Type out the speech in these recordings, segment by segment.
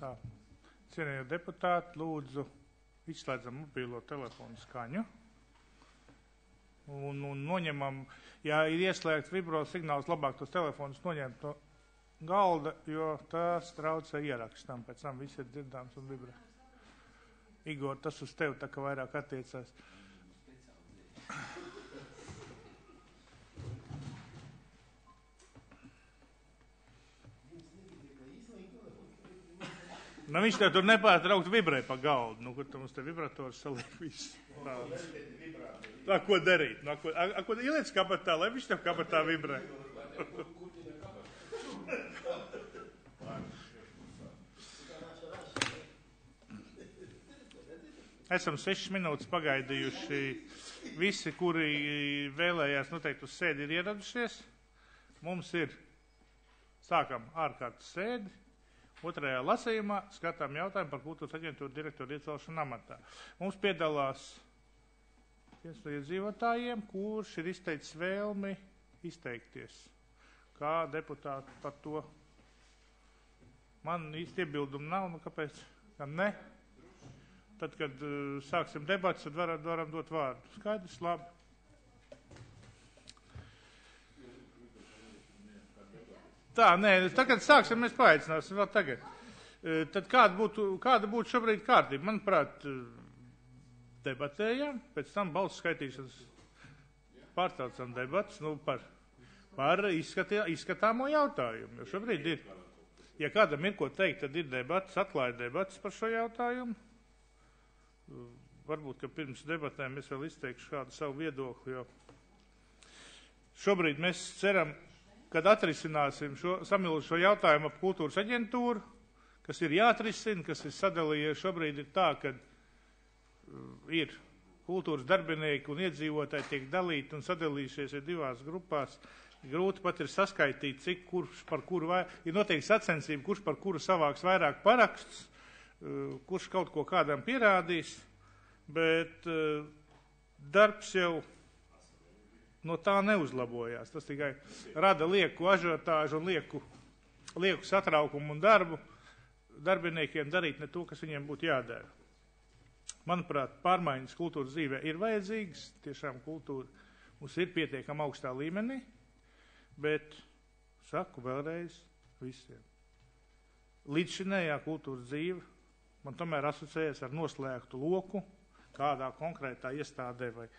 Tā. Cienījot deputāti, lūdzu, izslēdzam mobīlo telefonu skaņu un noņemam, ja ir ieslēgts vibro signāls, labāk tos telefonus noņemt no galda, jo tās traucē ierakstam, pēc tam viss ir dzirdāms un vibrē. Igor, tas uz tevi tā kā vairāk attiecās. Nu, viņš tev tur nepārtraukt vibrē pa galdu. Nu, kur tu mums te vibrators saliek visu. Tā, ko darīt? Nu, ko ieliec kabatā, lai viņš tev kabatā vibrē? Esam 6 minūtes pagaidījuši. Visi, kuri vēlējās noteikti uz sēdi, ir ieradušies. Mums ir, sākam ārkārtas sēdi. Otrajā lasījumā skatām jautājumu par kultūras aģentūru direktoru iecelšanu amatā. Mums piedalās viens no iedzīvotājiem, kurš ir izteicis vēlmi izteikties. Kā deputāti par to? Man īsti iebildumu nav, nu kāpēc? Ne? Tad, kad sāksim debats, tad varam dot vārdu. Skaidrs, labi. Tā, nē, tagad sāksim, mēs paaicināsim vēl tagad. Tad kāda būtu šobrīd kārtība? Manuprāt, debatējam, pēc tam balsu skaitīšanas pārtraucam debats, par izskatāmo jautājumu. Jo šobrīd ir, ja kādam ir ko teikt, tad ir debats, atklāja debats par šo jautājumu. Varbūt, ka pirms debatēm es vēl izteikšu kādu savu viedokli, jo šobrīd mēs ceram, kad atrisināsim samilušo jautājumu ap kultūras aģentūru, kas ir jāatrisina, kas ir sadalījies šobrīd ir tā, ka ir kultūras darbinieki un iedzīvotāji tiek dalīti un sadalījušies ir divās grupās. Grūti pat ir saskaitīt, cik kurš par kuru ir noteikti sacensība, kurš par kuru savāks vairāk paraksts, kurš kaut ko kādam pierādīs, bet darbs jau no tā neuzlabojās. Tas tikai rada lieku ažiotāžu un lieku satraukumu un darbu darbiniekiem darīt ne to, kas viņiem būtu jādara. Manuprāt, pārmaiņas kultūras dzīvē ir vajadzīgas, tiešām kultūra mums ir pietiekama augstā līmenī, bet saku vēlreiz visiem. Līdzšinējā kultūras dzīve man tomēr asociējas ar noslēgtu loku kādā konkrētā iestādē vai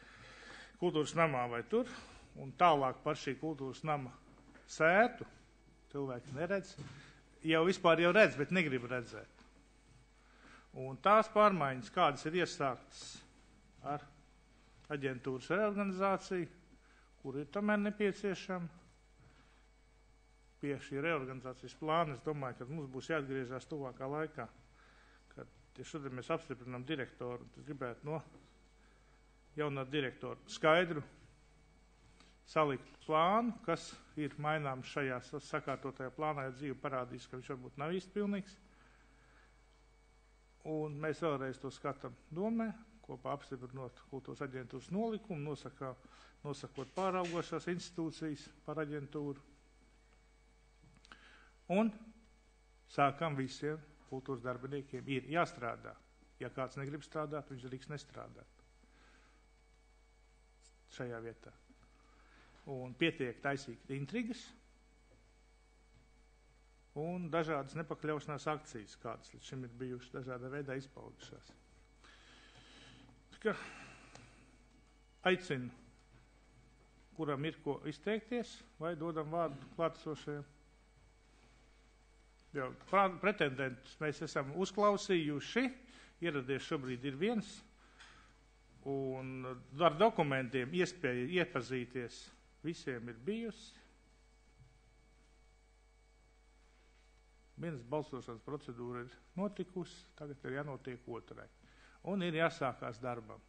kultūras namā vai tur, un tālāk par šī kultūras nama sētu, cilvēki neredz, jau vispār jau redz, bet negrib redzēt. Un tās pārmaiņas, kādas ir iesāktas ar aģentūras reorganizāciju, kur ir tomēr nepieciešama, pie šī reorganizācijas plāna, es domāju, ka mums būs jāatgriežās tuvākā laikā, kad tieši šodien mēs apstiprinām direktoru, un gribētu jaunā direktora skaidru salikt plānu, kas ir maināms šajā sakārtotajā plānā, ja dzīve parādīs, ka viņš varbūt nav īsti pilnīgs. Un mēs vēlreiz to skatām domē, kopā apstiprinot kultūras aģentūras nolikumu, nosakot pāraugošās institūcijas par aģentūru. Un sākam visiem kultūras darbiniekiem ir jāstrādā. Ja kāds negrib strādāt, viņš drīkst nestrādāt šajā vietā. Un pietiek taisīt intrigas un dažādas nepakļaušanās akcijas, kādas līdz šim ir bijušas dažādā veidā izpaudušās. Aicinu, kuram ir ko izteikties, vai dodam vārdu klātesošajiem. Pretendentus mēs esam uzklausījuši, ieradies šobrīd ir viens, un ar dokumentiem iespēja iepazīties visiem ir bijusi. Vienas balsošanas procedūra ir notikusi, tagad ir jānotiek otrai. Un ir jāsākās darbam.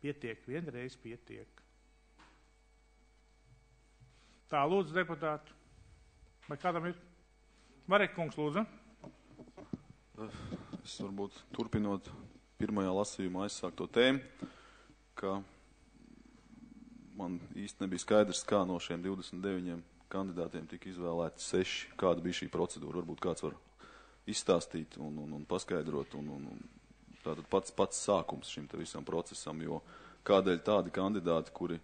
Pietiek, vienreiz pietiek. Tā, lūdzu, deputātu. Vai kādam ir? Marek kungs, lūdzu. Es varbūt turpinot pirmajā lasījumā aizsākto tēmu, ka man īsti nebija skaidrs, kā no šiem 29 kandidātiem tika izvēlēti 6, kāda bija šī procedūra. Varbūt kāds var izstāstīt un paskaidrot. Tātad pats sākums šim te visam procesam, jo kādēļ tādi kandidāti, kuri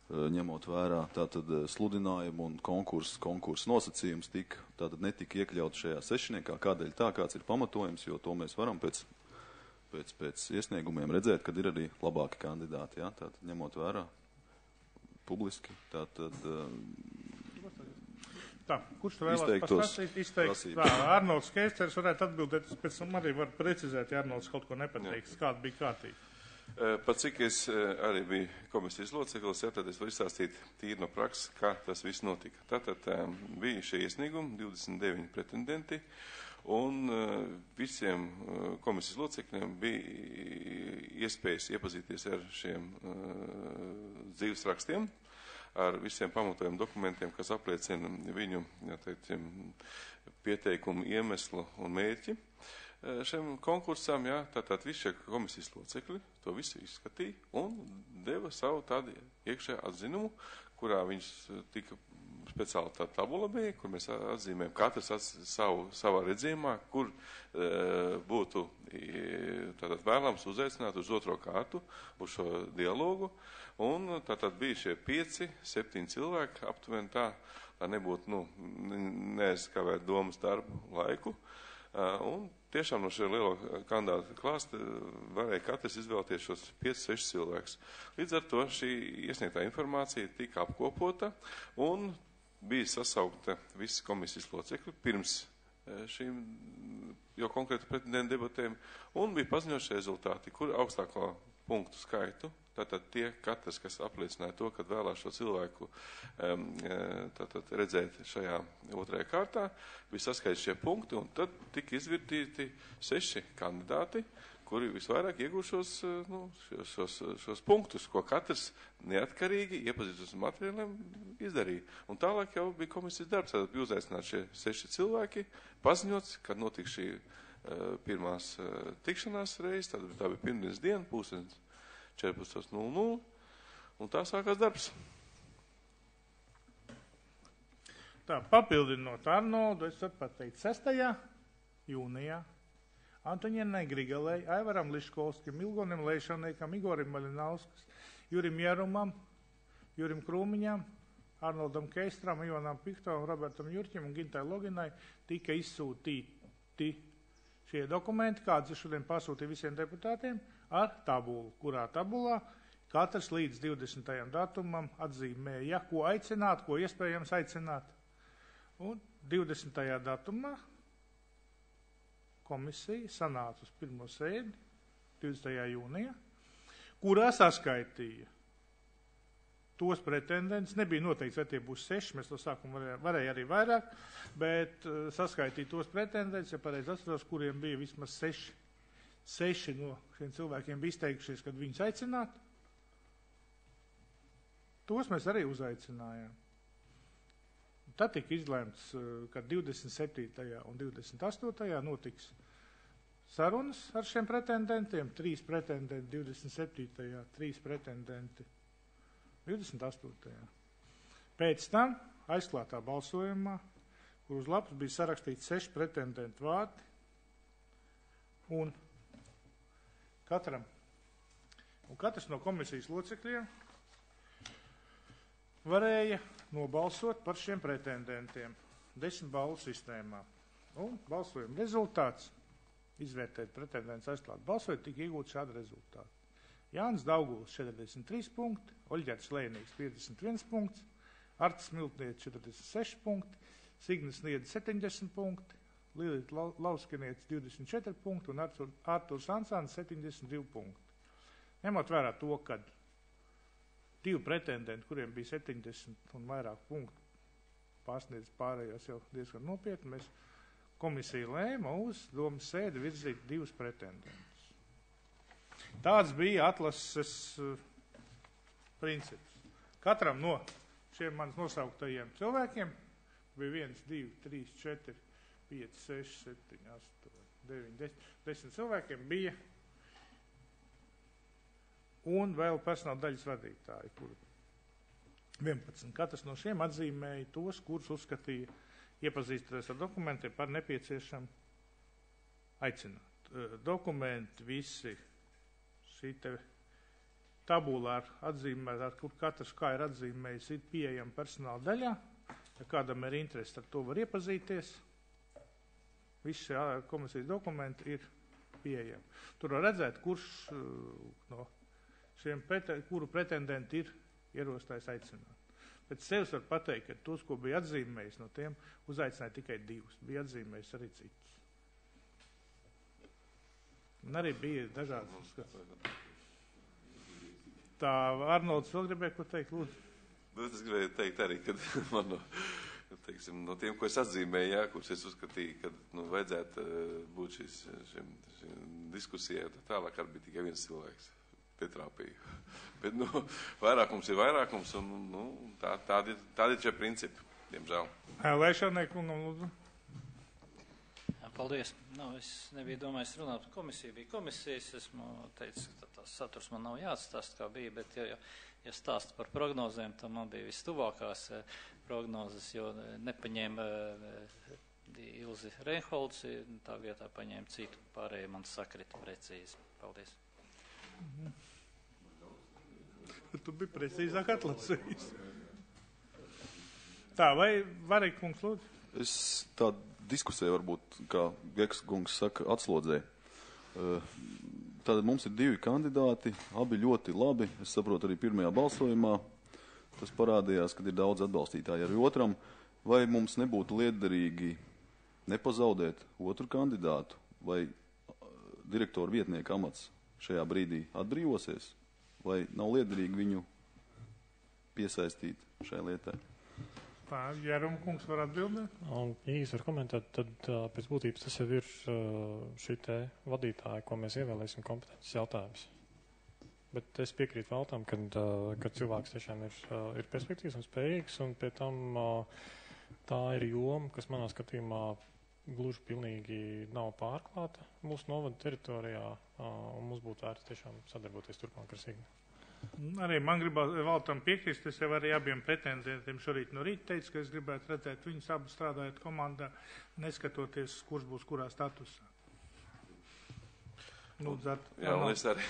ņemot vērā tātad sludinājumu un konkursu nosacījums tātad netika iekļaut šajā sešniekā, kādēļ tā, kāds ir pamatojums, jo to mēs varam pēc iesniegumiem redzēt, kad ir arī labāki kandidāti, jā, tātad ņemot vērā publiski, tātad Tā, kurš tu vēlās izteikt? Arnolds Keisters varētu atbildēt, pēc tam arī var precizēt, ja Arnolds kaut ko nepateiks, kāda bija kārtība. Pat cik es arī biju komisijas loceklis, tad es varu izstāstīt tīri no prakses, kā tas viss notika. Tātad bija šie iesniegumi, 29 pretendenti, un visiem komisijas locekļiem bija iespējas iepazīties ar šiem dzīves rakstiem, ar visiem pamatojumu dokumentiem, kas apliecina viņu pieteikumu iemeslu un mērķi. Šiem konkursām, jā, tātad visi šie komisijas locekļi to visu izskatīja un deva savu tādu iekšējā atzinumu, kurā viņš tika speciāli tā tabula bija, kur mēs atzīmējam katrs savā redzījumā, kur būtu tātad vēlams uzaicināt uz otro kārtu, uz šo dialogu. Un tātad bija šie 5-7 cilvēki aptuveni tā, lai nebūtu, neaizskavēt domas darbu laiku. Un tiešām no šie lielo kandidātu klāsta varēja katrs izvēlēties šos 5-6 cilvēkus. Līdz ar to šī iesniegtā informācija tika apkopota un bija sasaukta visi komisijas locekļi pirms šīm jau konkrēti pretendentu debatēm un bija paziņots rezultāti, kur augstāko punktu skaitu. Tātad tie katrs, kas apliecināja to, kad vēlās šo cilvēku redzēt šajā otrajā kārtā, bija saskaidri šie punkti, un tad tika izvirtīti 6 kandidāti, kuri visvairāk iegūšos šos punktus, ko katrs neatkarīgi iepazīstos materiāliem izdarīja. Un tālāk jau bija komisijas darbs, tad bija uzaicināti šie 6 cilvēki, paziņots, kad notika šī pirmās tikšanās reize, tad tā bija pirmdienas diena, 14:00, un tā sākās darbs. Tā, papildinot Arnoldu, es varu pateikt 6. jūnijā Antoņienai Grigalei, Aivaram Liškovskim, Ilgonim Leišaniekam, Igorim Maļinauskas, Jurim Jarumam, Jurim Krūmiņam, Arnoldam Keistram, Ivanam Piktovam, Robertam Jurķim un Gintai Loginai tika izsūtīti šie dokumenti, kāds ir šodien pasūtīja visiem deputātiem, ar tabulu, kurā tabulā katrs līdz 20. datumam atzīmēja, ko aicināt, ko iespējams aicināt. Un 20. datumā komisija sanāca uz pirmo sēdi 20. jūnijā, kurā saskaitīja tos pretendents. Nebija noteikts, vai tie būs 6, mēs to sākumu varēja arī vairāk, bet saskaitīja tos pretendents, ja pareizi atceros, kuriem bija vismaz 6 no šiem cilvēkiem bija izteikušies, kad viņus aicināt. Tos mēs arī uzaicinājām. Tad tika izlēmts, ka 27. un 28. notiks sarunas ar šiem pretendentiem, 3 pretendenti 27. 3 pretendenti 28. Pēc tam aizklātā balsojumā, kur uz lapas bija sarakstīts 6 pretendentu vārdi, un katrs no komisijas locekļiem varēja nobalsot par šiem pretendentiem 10 balvu sistēmā. Un balsojuma rezultāts, izvērtēt pretendents aizklāt balsojot, tika iegūt šādu rezultātu. Jānis Dauguls 43 punkti, Oļģerts Lēnīgs 51 punkts, Artis Miltnieks 46 punkti, Signis Niedis 70 punkti, Lilita Lauskiniets 24 punkti un Arturs Ansāns 72 punkti. Ņemot vērā to, ka 2 pretendenti, kuriem bija 70 un vairāk punktu, pārsniedz pārējās jau diezgan nopietni, mēs komisija lēma uz domas sēdi virzīt 2 pretendentus. Tāds bija atlases princips. Katram no šiem manis nosauktajiem cilvēkiem bija 1, 2, 3, 4, 5, 6, 7, 8, 9, 10 cilvēkiem bija un vēl personāla daļas vadītāji, kuri 11. Katrs no šiem atzīmēja tos, kurus uzskatīja iepazīstoties ar dokumentiem par nepieciešamu aicināt. Dokumenti visi, šī te tabula ar atzīmēt, ar kur katrs kā ir atzīmējis, ir pieejama personāla daļā. Ja kādam ir interesi, ar to var iepazīties. Visi komisijas dokumenti ir pieejami. Tur var redzēt, kurš no šiem kuru pretendenti ir ierosinājuši aicināt. Pēc sevis var pateikt, ka tos, ko bija atzīmējis, no tiem uzaicināja tikai 2. Bija atzīmējis arī citus. Un arī bija dažādas skats. Tā Arnolds vēl gribēja ko teikt, lūdzu. Es gribēju teikt arī, ka man no tiem, ko es atzīmēju, jā, kurus es uzskatīju, ka vajadzētu būt šiem diskusijai, tālāk arī bija tikai viens cilvēks. Pietrāpīju. Bet, vairākums ir vairākums, un tādi ir šie principi, diemžēl. Lēšanai kungam, lūdzu. Paldies. Es nebiju domājis runāt par komisiju. Bija komisijas, esmu teicis, ka tās saturs man nav jāatstāst, kā bija, bet ja stāst par prognozēm, tad man bija vistuvākās prognozes, jo nepaņēma Ilzi Reinholds, tā vietā paņēma citu, pārējie man sakrita precīzi. Paldies. Tu biji precīzāk atlasījis. Tā, vai Varīgi kungs lūdzu? Es tādu diskusiju varbūt, kā Geks kungs saka, atslodzē. Tātad mums ir 2 kandidāti, abi ļoti labi. Es saprotu arī pirmajā balsojumā. Tas parādījās, kad ir daudz atbalstītāji arī otram. Vai mums nebūtu liederīgi nepazaudēt otru kandidātu? Vai direktoru vietnieku amats šajā brīdī atbrīvosies? Vai nav liederīgi viņu piesaistīt šai lietai? Tā, Jēruma kungs var atbildēt? Ja jūs var komentēt, tad pēc būtības tas jau ir šī te vadītāja, ko mēs ievēlēsim kompetences jautājums. Bet es piekrītu Valtam, ka cilvēks tiešām ir perspektīvs un spējīgs, un pie tam tā ir joma, kas manā skatījumā gluži pilnīgi nav pārklāta mūsu novada teritorijā, un mums būtu vērts tiešām sadarboties turpmāk ar Signi. Arī man gribās Valtam piekrist, es jau arī abiem pretendentiem šorīt no rīta teicu, ka es gribētu redzēt viņus abu strādājot komandā, neskatoties, kurš būs kurā statusā. Jā, un es arī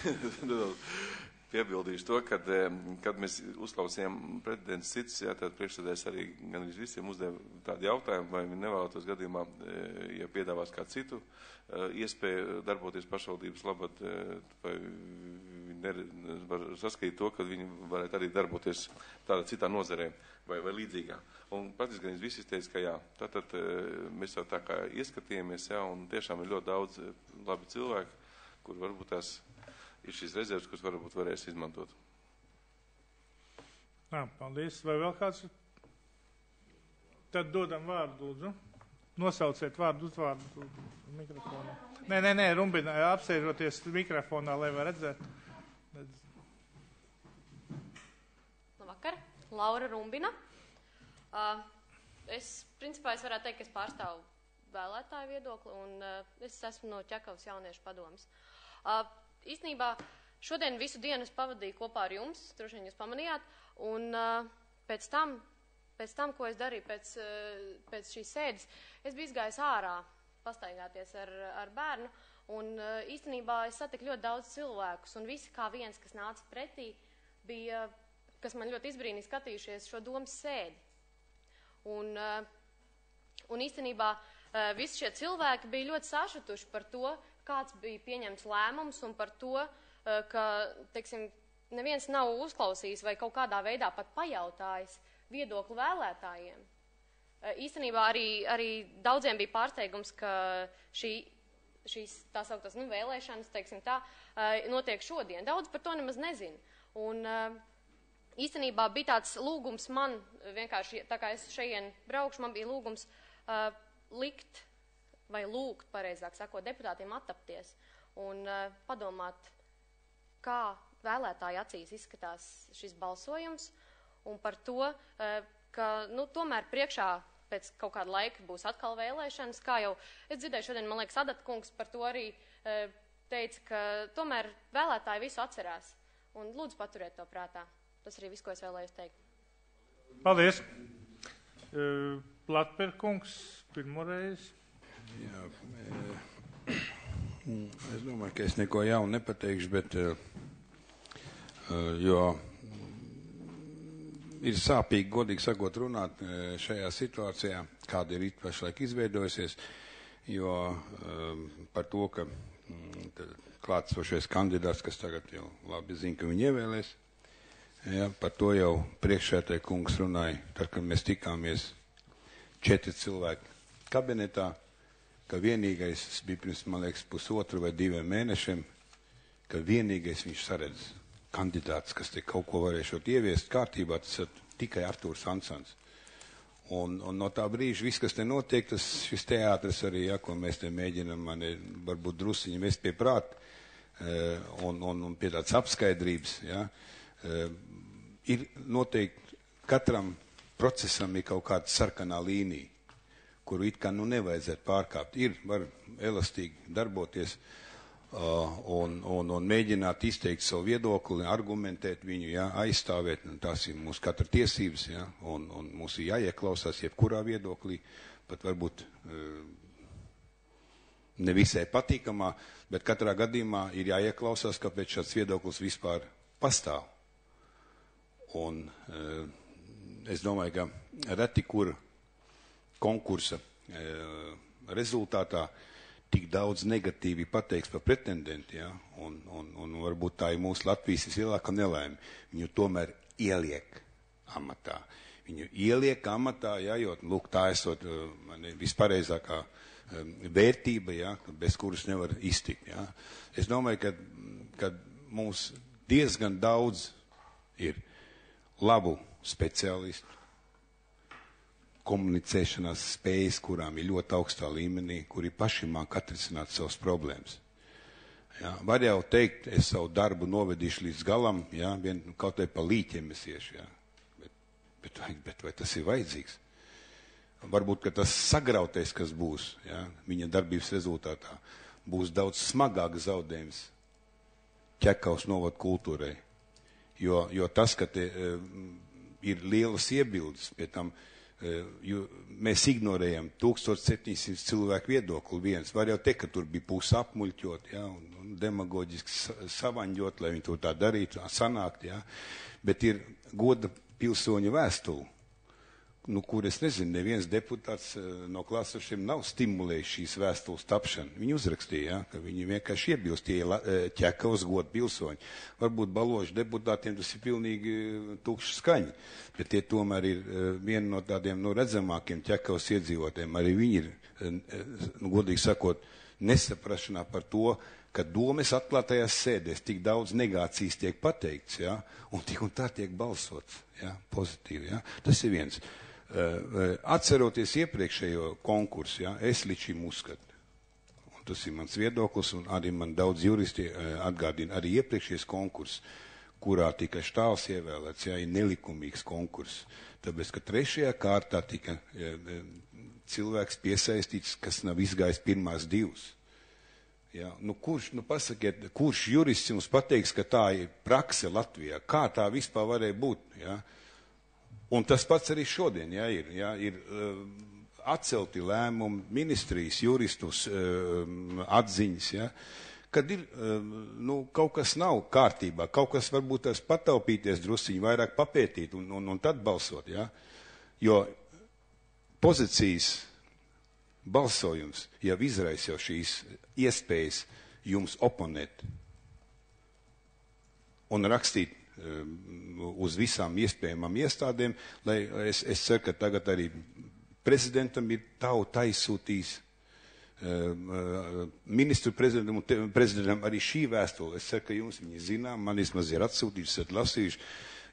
piebildīšu to, kad mēs uzklausījām pretendents citus, tad priekšsēdētājs arī gan visiem uzdeva tādu jautājumu, vai viņi nevēlētos gadījumā, ja piedāvās kā citu iespēju darboties pašvaldības labad, vai viņi var saskatīt to, ka viņi varētu arī darboties tādā citā nozarē vai līdzīgā. Un praktiski gan visi teica, ka jā. Tātad mēs jau tā kā ieskatījāmies, jā, un tiešām ir ļoti daudz labi cilvēki, kur varbūt tās ir šīs rezerves, kuras varbūt varēs izmantot. Paldies. Vai vēl kāds? Tad dodam vārdu, lūdzu. Nosauciet vārdu, uzvārdu mikrofonā. Nē, Rumbina, apsēžoties mikrofonā, lai var redzēt. Labvakar, Laura Rumbina. Principā es varētu teikt, ka es pārstāvu vēlētāju viedokli, un es esmu no Ķekavas jauniešu padomes. Īstenībā šodien visu dienu es pavadīju kopā ar jums, droši vien jūs pamanījāt, un pēc tam, ko es darīju pēc šīs sēdes, es biju izgājis ārā pastaigāties ar bērnu, un īstenībā es satiku ļoti daudz cilvēkus, un visi kā viens, kas nāca pretī, bija, kas man ļoti izbrīnīja skatījušies šo domas sēdi. Un īstenībā visi šie cilvēki bija ļoti sašutuši par to, kāds bija pieņemts lēmums, un par to, ka, teiksim, neviens nav uzklausījis vai kaut kādā veidā pat pajautājis viedokli vēlētājiem. Īstenībā arī daudziem bija pārsteigums, ka šīs tā sauktās vēlēšanas, teiksim tā, notiek šodien. Daudz par to nemaz nezinu. Un īstenībā bija tāds lūgums man, vienkārši, tā kā es šeit braukšu, man bija lūgums likt vai lūgt, pareizāk sakot, deputātiem attapties un padomāt, kā vēlētāju acīs izskatās šis balsojums, un par to, ka, tomēr priekšā pēc kaut kāda laika būs atkal vēlēšanas, kā jau es dzirdēju šodien, man liekas, Adat kungs par to arī teica, ka tomēr vēlētāji visu atcerās, un lūdzu paturiet to prātā. Tas arī viss, ko es vēlējos teikt. Paldies. Platper kungs, pirmoreiz. Jā, Es domāju, ka es neko jaunu nepateikšu, bet jo ir sāpīgi, godīgi sakot, runāt šajā situācijā, kāda ir pašlaik izveidojusies, jo par to, ka klātsošais kandidāts, kas tagad jau labi zina, ka viņi ievēlēs, ja, par to jau priekšsēdētāja kungs runāja, tad, kad mēs tikāmies 4 cilvēki kabinetā, ka vienīgais, tas bija pirms, man liekas, 1,5 vai 2 mēnešiem, ka vienīgais viņš saredz kandidāts, kas te kaut ko varēšot ieviest kārtībā, tas ir tikai Artūrs Ansons. Un no tā brīža viss, kas te notiek, šis teātris arī, ja, ko mēs te mēģinam, varbūt drusiņi mest pie prāt, un pie tādas apskaidrības, ja, ir noteikti katram procesam ir kaut kāda sarkanā līnija, kuru it kā nevajadzētu pārkāpt. Var elastīgi darboties un mēģināt izteikt savu viedokli, argumentēt viņu, ja, aizstāvēt, tās ir mūsu katra tiesības, ja, un mums ir jāieklausās jebkurā viedoklī, pat varbūt nevisai patīkamā, bet katrā gadījumā ir jāieklausās, kāpēc šāds viedoklis vispār pastāv. Un es domāju, ka reti kur konkursa rezultātā tik daudz negatīvi pateiks par pretendentu, ja? un varbūt tā ir mūsu Latvijas vislielākā nelaime. Viņu tomēr ieliek amatā. Viņu ieliek amatā, ja? Jo lūk, tā esot vispareizākā vērtība, ja? Bez kuras nevar iztikt. Ja? Es domāju, ka mums diezgan daudz ir labu speciālistu, komunicēšanās spējas, kurām ir ļoti augstā līmenī, kuri paši māk atrisināt savas problēmas. Ja, var jau teikt, es savu darbu novedīšu līdz galam, ja, kaut vai pa līķiem es iešu, ja, bet vai tas ir vajadzīgs? Varbūt, ka tas sagrautais, kas būs, ja, viņa darbības rezultātā, būs daudz smagāks zaudējums Ķekavas novada kultūrai, jo tas, ka te ir lielas iebildes pie tam, jo mēs ignorējam 1700 cilvēku viedokli viens. Var jau teikt, ka tur bija puse apmuļķot, ja, un demagoģiski savaņģot, lai viņi to tā darītu, sanākt, ja. Bet ir goda pilsoņu vēstuli, kur es nezinu, neviens deputāts no klāsošiem nav stimulējis šīs vēstules tapšanu. Viņi uzrakstīja, ja, ka viņi vienkārši iebilst tie Ķekavas goda pilsoņi. Varbūt Baložu deputātiem tas ir pilnīgi tukšs skaņi, bet tie tomēr ir viena no tādiem redzamākiem Ķekavas iedzīvotājiem. Arī viņi ir, godīgi sakot, nesaprašanā par to, ka domes atklātajās sēdēs tik daudz negācijas tiek pateikts, ja, un tik un tā tiek balsots, ja, pozitīvi. Ja. Tas ir viens. Atceroties iepriekšējo konkursu, ja, es līdz šim uzskatu, un tas ir mans viedoklis, un arī man daudz juristi atgādina, arī iepriekšējais konkurss, kurā tika Štāls ievēlēts, ja, ir nelikumīgs konkurss, tāpēc, ka 3. kārtā tika cilvēks piesaistīts, kas nav izgājis pirmās 2. Ja, pasakiet, kurš jurists jums pateiks, ka tā ir prakse Latvijā? Kā tā vispār varēja būt? Ja? Un tas pats arī šodien, ja, ir atcelti lēmumi, ministrijas, juristus atziņas, ja, kad ir, kaut kas nav kārtībā, kaut kas varbūt tās pataupīties drusiņi, vairāk papētīt un tad balsot, ja, jo pozīcijas balsojums jau izraisa jau šīs iespējas jums oponēt un rakstīt uz visām iespējamām iestādēm, lai es ceru, ka tagad arī prezidentam ir tauta aizsūtījis, ministru prezidentam arī šī vēstule. Es ceru, ka jums viņi zinām, man vismaz ir atsūtījuši, esat lasījuši.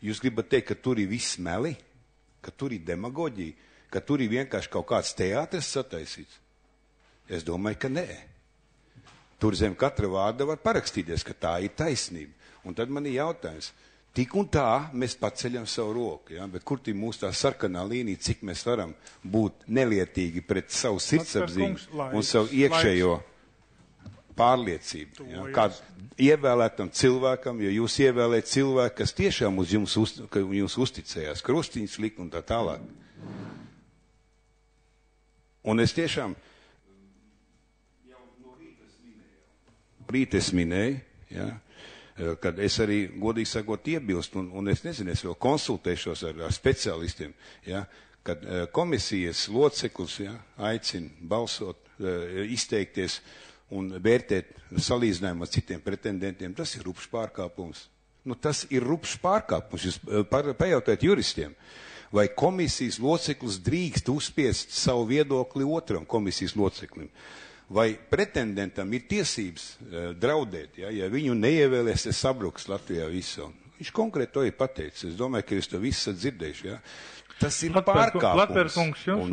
Jūs gribat teikt, ka tur ir viss meli, ka tur ir demagoģija, ka tur ir vienkārši kaut kāds teātris sataisīts? Es domāju, ka nē. Tur zem katra vārda var parakstīties, ka tā ir taisnība. Un tad man ir jautājums, tik un tā mēs paceļam savu roku, ja? Bet kur ir mūsu tā sarkanā līnija, cik mēs varam būt nelietīgi pret savu sirdsapziņu un savu iekšējo pārliecību. Ja? Kā ievēlētam cilvēkam, jo jūs ievēlēt cilvēku, kas tiešām uz jums uzticējās, krustiņas likt un tā tālāk. Un es tiešām jau no rīta minēju, rīt es minēju, ja, kad es arī, godīgi sakot, iebilstu, un es nezinu, es vēl konsultēšos ar speciālistiem, ja, kad komisijas loceklis, ja, aicina balsot, izteikties un vērtēt salīdzinājumu ar citiem pretendentiem, tas ir rupšs pārkāpums. Nu, tas ir rupšs pārkāpums. Jūs pajautājiet juristiem, vai komisijas loceklis drīkst uzspiest savu viedokli otram komisijas loceklim. Vai pretendentam ir tiesības draudēt, ja viņu neievēlēs, es sabruks Latvijā visu. Viņš konkrēti to ir pateicis. Es domāju, ka jūs to visu esat dzirdējuši. Ja? Tas ir pārkāpums. Latverkungs, jums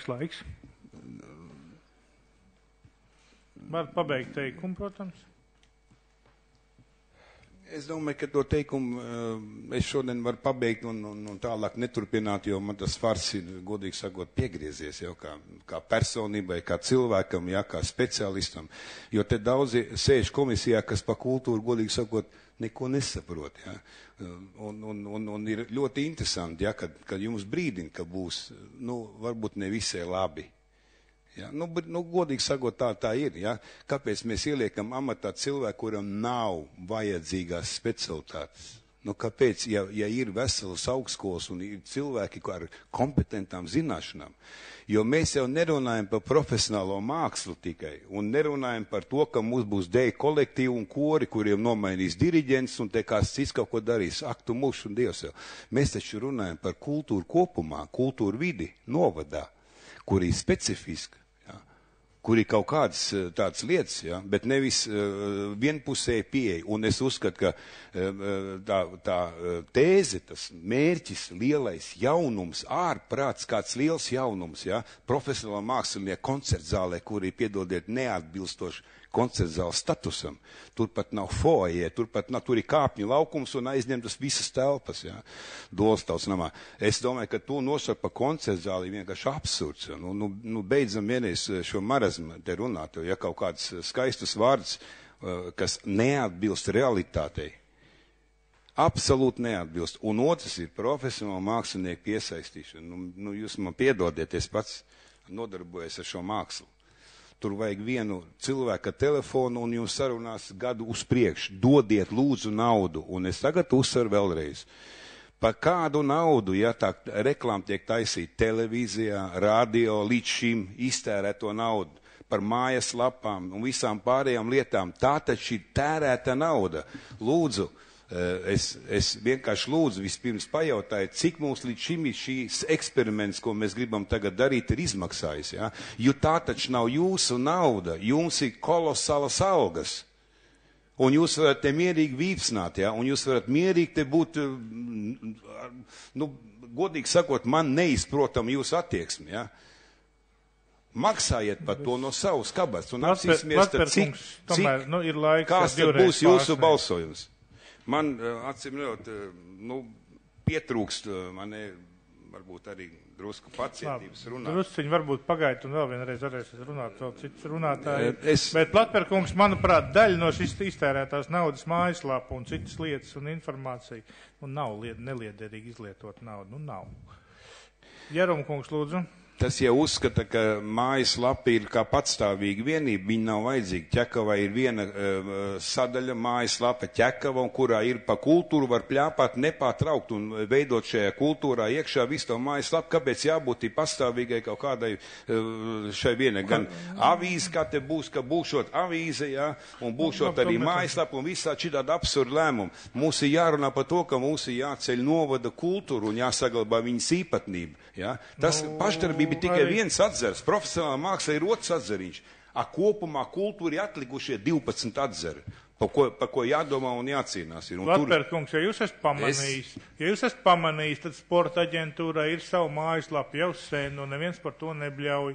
laiks. Var pabeigt teikumu, protams. Es domāju, ka to teikumu es šodien varu pabeigt un tālāk neturpināt, jo man tas fars ir, godīgi sakot, piegriezies jau kā personībai, kā cilvēkam, ja, kā speciālistam. Jo te daudzi sēž komisijā, kas pa kultūru, godīgi sakot, neko nesaprot. Ja. Un ir ļoti interesanti, ja, kad jums brīdina, ka būs, varbūt ne visai labi. Ja, godīgi sakot, tā ir. Ja? Kāpēc mēs ieliekam amatā cilvēku, kuram nav vajadzīgās specialitātes? Kāpēc, ja ir veselas augstskolas un ir cilvēki ar kompetentām zināšanām? Jo mēs jau nerunājam par profesionālo mākslu tikai, un nerunājam par to, ka mums būs deju kolektīvi un kori, kuriem nomainīs diriģents un te kāds cits kaut ko darīs. Aktu mušu un Dievs jau. Mēs taču runājam par kultūru kopumā, kultūru vidi, novadā, kur ir specifiska. Kur ir kaut kādas tādas lietas, ja, bet nevis vienpusēji pieeja. Un es uzskatu, ka tā tēze, tas mērķis, lielais jaunums, ārprāts kāds liels jaunums, ja, profesionāla mākslinieku koncertzālē, kuri, piedodiet, neatbilstoši koncertzāla statusam. Turpat nav foajē, tur ir kāpņu laukums un aizņemtas visas telpas, ja, Dolstāvs namā. Es domāju, ka to nosaukt par koncertzāli ir vienkārši absurds. Ja. Beidzam vienreiz šo marazmu te runāt, ja kaut kāds skaistus vārds, kas neatbilst realitātei. Absolūti neatbilst. Un otrs ir profesionāla mākslinieku piesaistīšana. Jūs man piedodiet, es pats nodarbojos ar šo mākslu. Tur vajag vienu cilvēku telefonu un jums sarunās gadu uz priekšu. Dodiet lūdzu naudu. Un es tagad uzsveru vēlreiz. Par kādu naudu, ja tā reklāma tiek taisīta televīzijā, radio, līdz šim iztērēto naudu, par mājas lapām un visām pārējām lietām, tā taču ir tērēta nauda. Lūdzu, es vienkārši lūdzu vispirms pajautāju, cik mums līdz šim ir šīs eksperiments, ko mēs gribam tagad darīt, ir izmaksājis. Ja? Jo tā taču nav jūsu nauda, jums ir kolosālas algas. Un jūs varat te mierīgi vīpsnāt, ja? Un jūs varat mierīgi te būt, godīgi sakot, man neizprotam jūsu attieksmi. Ja? Maksājiet par to no savas kabats un apsīsimies, kāds tad būs jūsu balsojums. Man, acīm redzot, pietrūkst, man varbūt arī drusku pacietības runāt. Drusciņi varbūt pagaidu un vēl vienreiz varēs runāt vēl cits runātāji. Bet Platperkungs, manuprāt, daļa no šīs iztērētās naudas mājaslāpa un citas lietas un informācija, nav neliederīgi izlietot naudu, nav. Jerumkungs, lūdzu. Tas jau uzskata, ka mājaslapa ir kā patstāvīga vienība, viņa nav vajadzīga. Ķekavā ir viena sadaļa mājaslapa Ķekava, kurā ir pa kultūru, var pļāpāt nepārtraukt un veidot šajā kultūrā iekšā visu to mājaslapu. Kāpēc jābūt pastāvīgai kaut kādai šai vienai? Gan avīze, kā te būs, ka būšot avīze, jā, un būšot arī mājaslapa un visā šitāda absurda lēmuma. Mums ir jārunā par to, ka mums ir jāceļ novada kultūru un jāsaglabā viņas īpatnība. Jā. Tas pašdarbība ir tikai viens atzars. Profesionāla māksla ir otrs atzariņš. Kopumā kultūra ir atlikušie 12 atzari, par ko jādomā un jācīnās. Latverkungs, ja jūs esat pamanījis, tad sporta aģentūra ir savu mājaslapu jau sen, un neviens par to nebļauj.